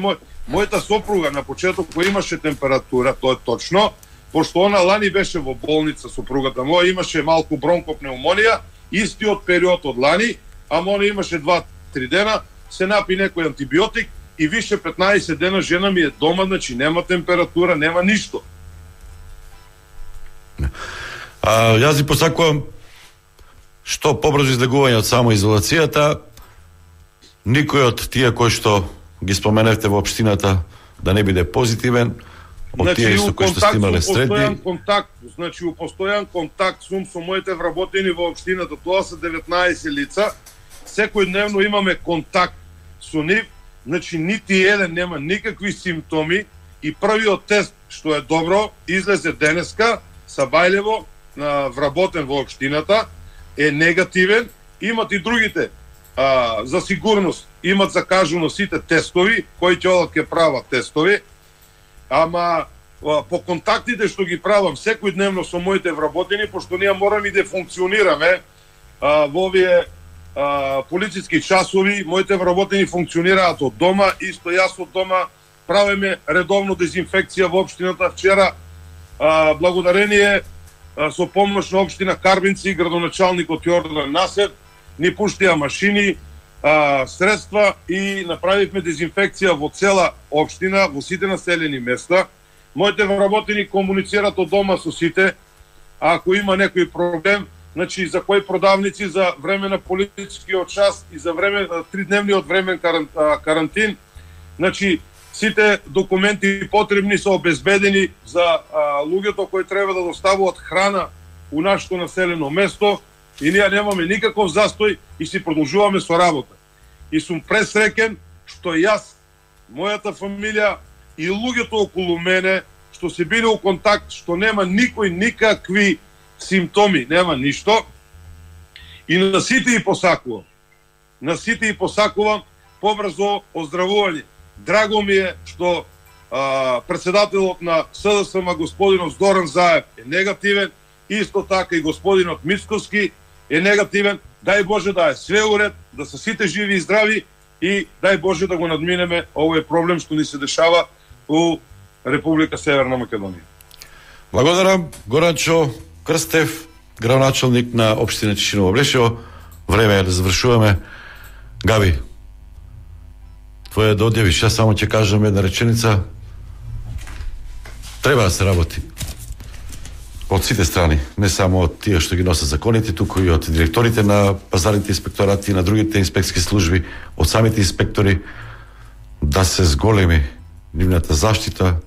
мојата сопруга на почеток кој имаше температура, тоа е точно, пошто она лани беше во болница, сопругата моја имаше малку бронкопнеумонија, истиот период од лани, ама она имаше 2-3 дена, се напи некој антибиотик и више 15 дена жена ми е дома, значи нема температура, нема ништо. Јас ви посакувам што побрзо излегување од самоизолацијата, никој од тие кои што ги споменавте во општината да не биде позитивен, од тие со кои што сте имале средби. Значи, у постојан контакт сум со моите вработени во општината, тоа се 19 лица, секој дневно имаме контакт со нив, значи нити еден нема никакви симптоми и првиот тест, што е добро, излезе денеска, Сабајлево, вработен во општината, е негативен, имат и другите, за сигурност, имат закажано сите тестови, кои ќе одат ке прават тестови, ама по контактите што ги правам секој дневно со моите вработени, пошто ние мораме да функционираме во овие полициски часови, моите вработени функционираат од дома, исто јас од дома правиме редовно дезинфекција во општината. Вчера, благодарение со помош на општина Карбинци, градоначалникот Јордан Насер, ни пуштија машини, средства и направивме дезинфекција во цела општина, во сите населени места. Моите вработени комуницираат од дома со сите, а ако има некој проблем, значи за кои продавници за време на полицискиот час и за време 3-дневниот времен карантин, значи сите документи потребни се обезбедени за луѓето кои треба да доставуваат храна у нашето населено место и ние немаме никаков застој и си продолжуваме со работа. И сум пресреќен што јас, мојата фамилија и луѓето околу мене што се биле у контакт, што нема никој никакви симптоми, нема ништо. И на сите и посакувам. На сите и посакувам побрзо оздравување. Драго ми е што председателот на СДСМ господинот Зоран Заев е негативен, исто така и господинот Мицковски е негативен. Дај Боже да е све уред, да се сите живи и здрави и дај Боже да го надминеме овој проблем што ни се дешава у Република Северна Македонија. Благодарам, Горанчо Крстев, градоначалник на општина Тишиново Блешево. Време е да завршуваме. Габи, твоја да одјавиш, јас само ќе кажам една реченица. Треба да се работи од сите страни, не само од тие што ги носат законите, туку и од директорите на пазарните инспекторати и на другите инспекциски служби, од самите инспектори, да се зголеми нивната заштита,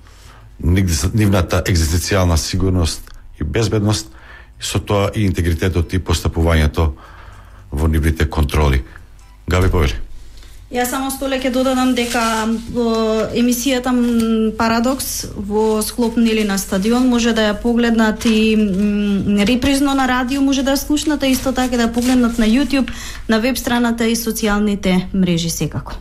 нивната екзистенцијална сигурност и безбедност, и со тоа и интегритетот и постапувањето во нивните контроли. Габи, повели. Јас само столе ќе додадам дека емисијата Парадокс во склоп нели на стадион може да ја погледнат и репризно на радио, може да ја слушнат, исто така да ја погледнат на YouTube, на веб страната и социјалните мрежи секако.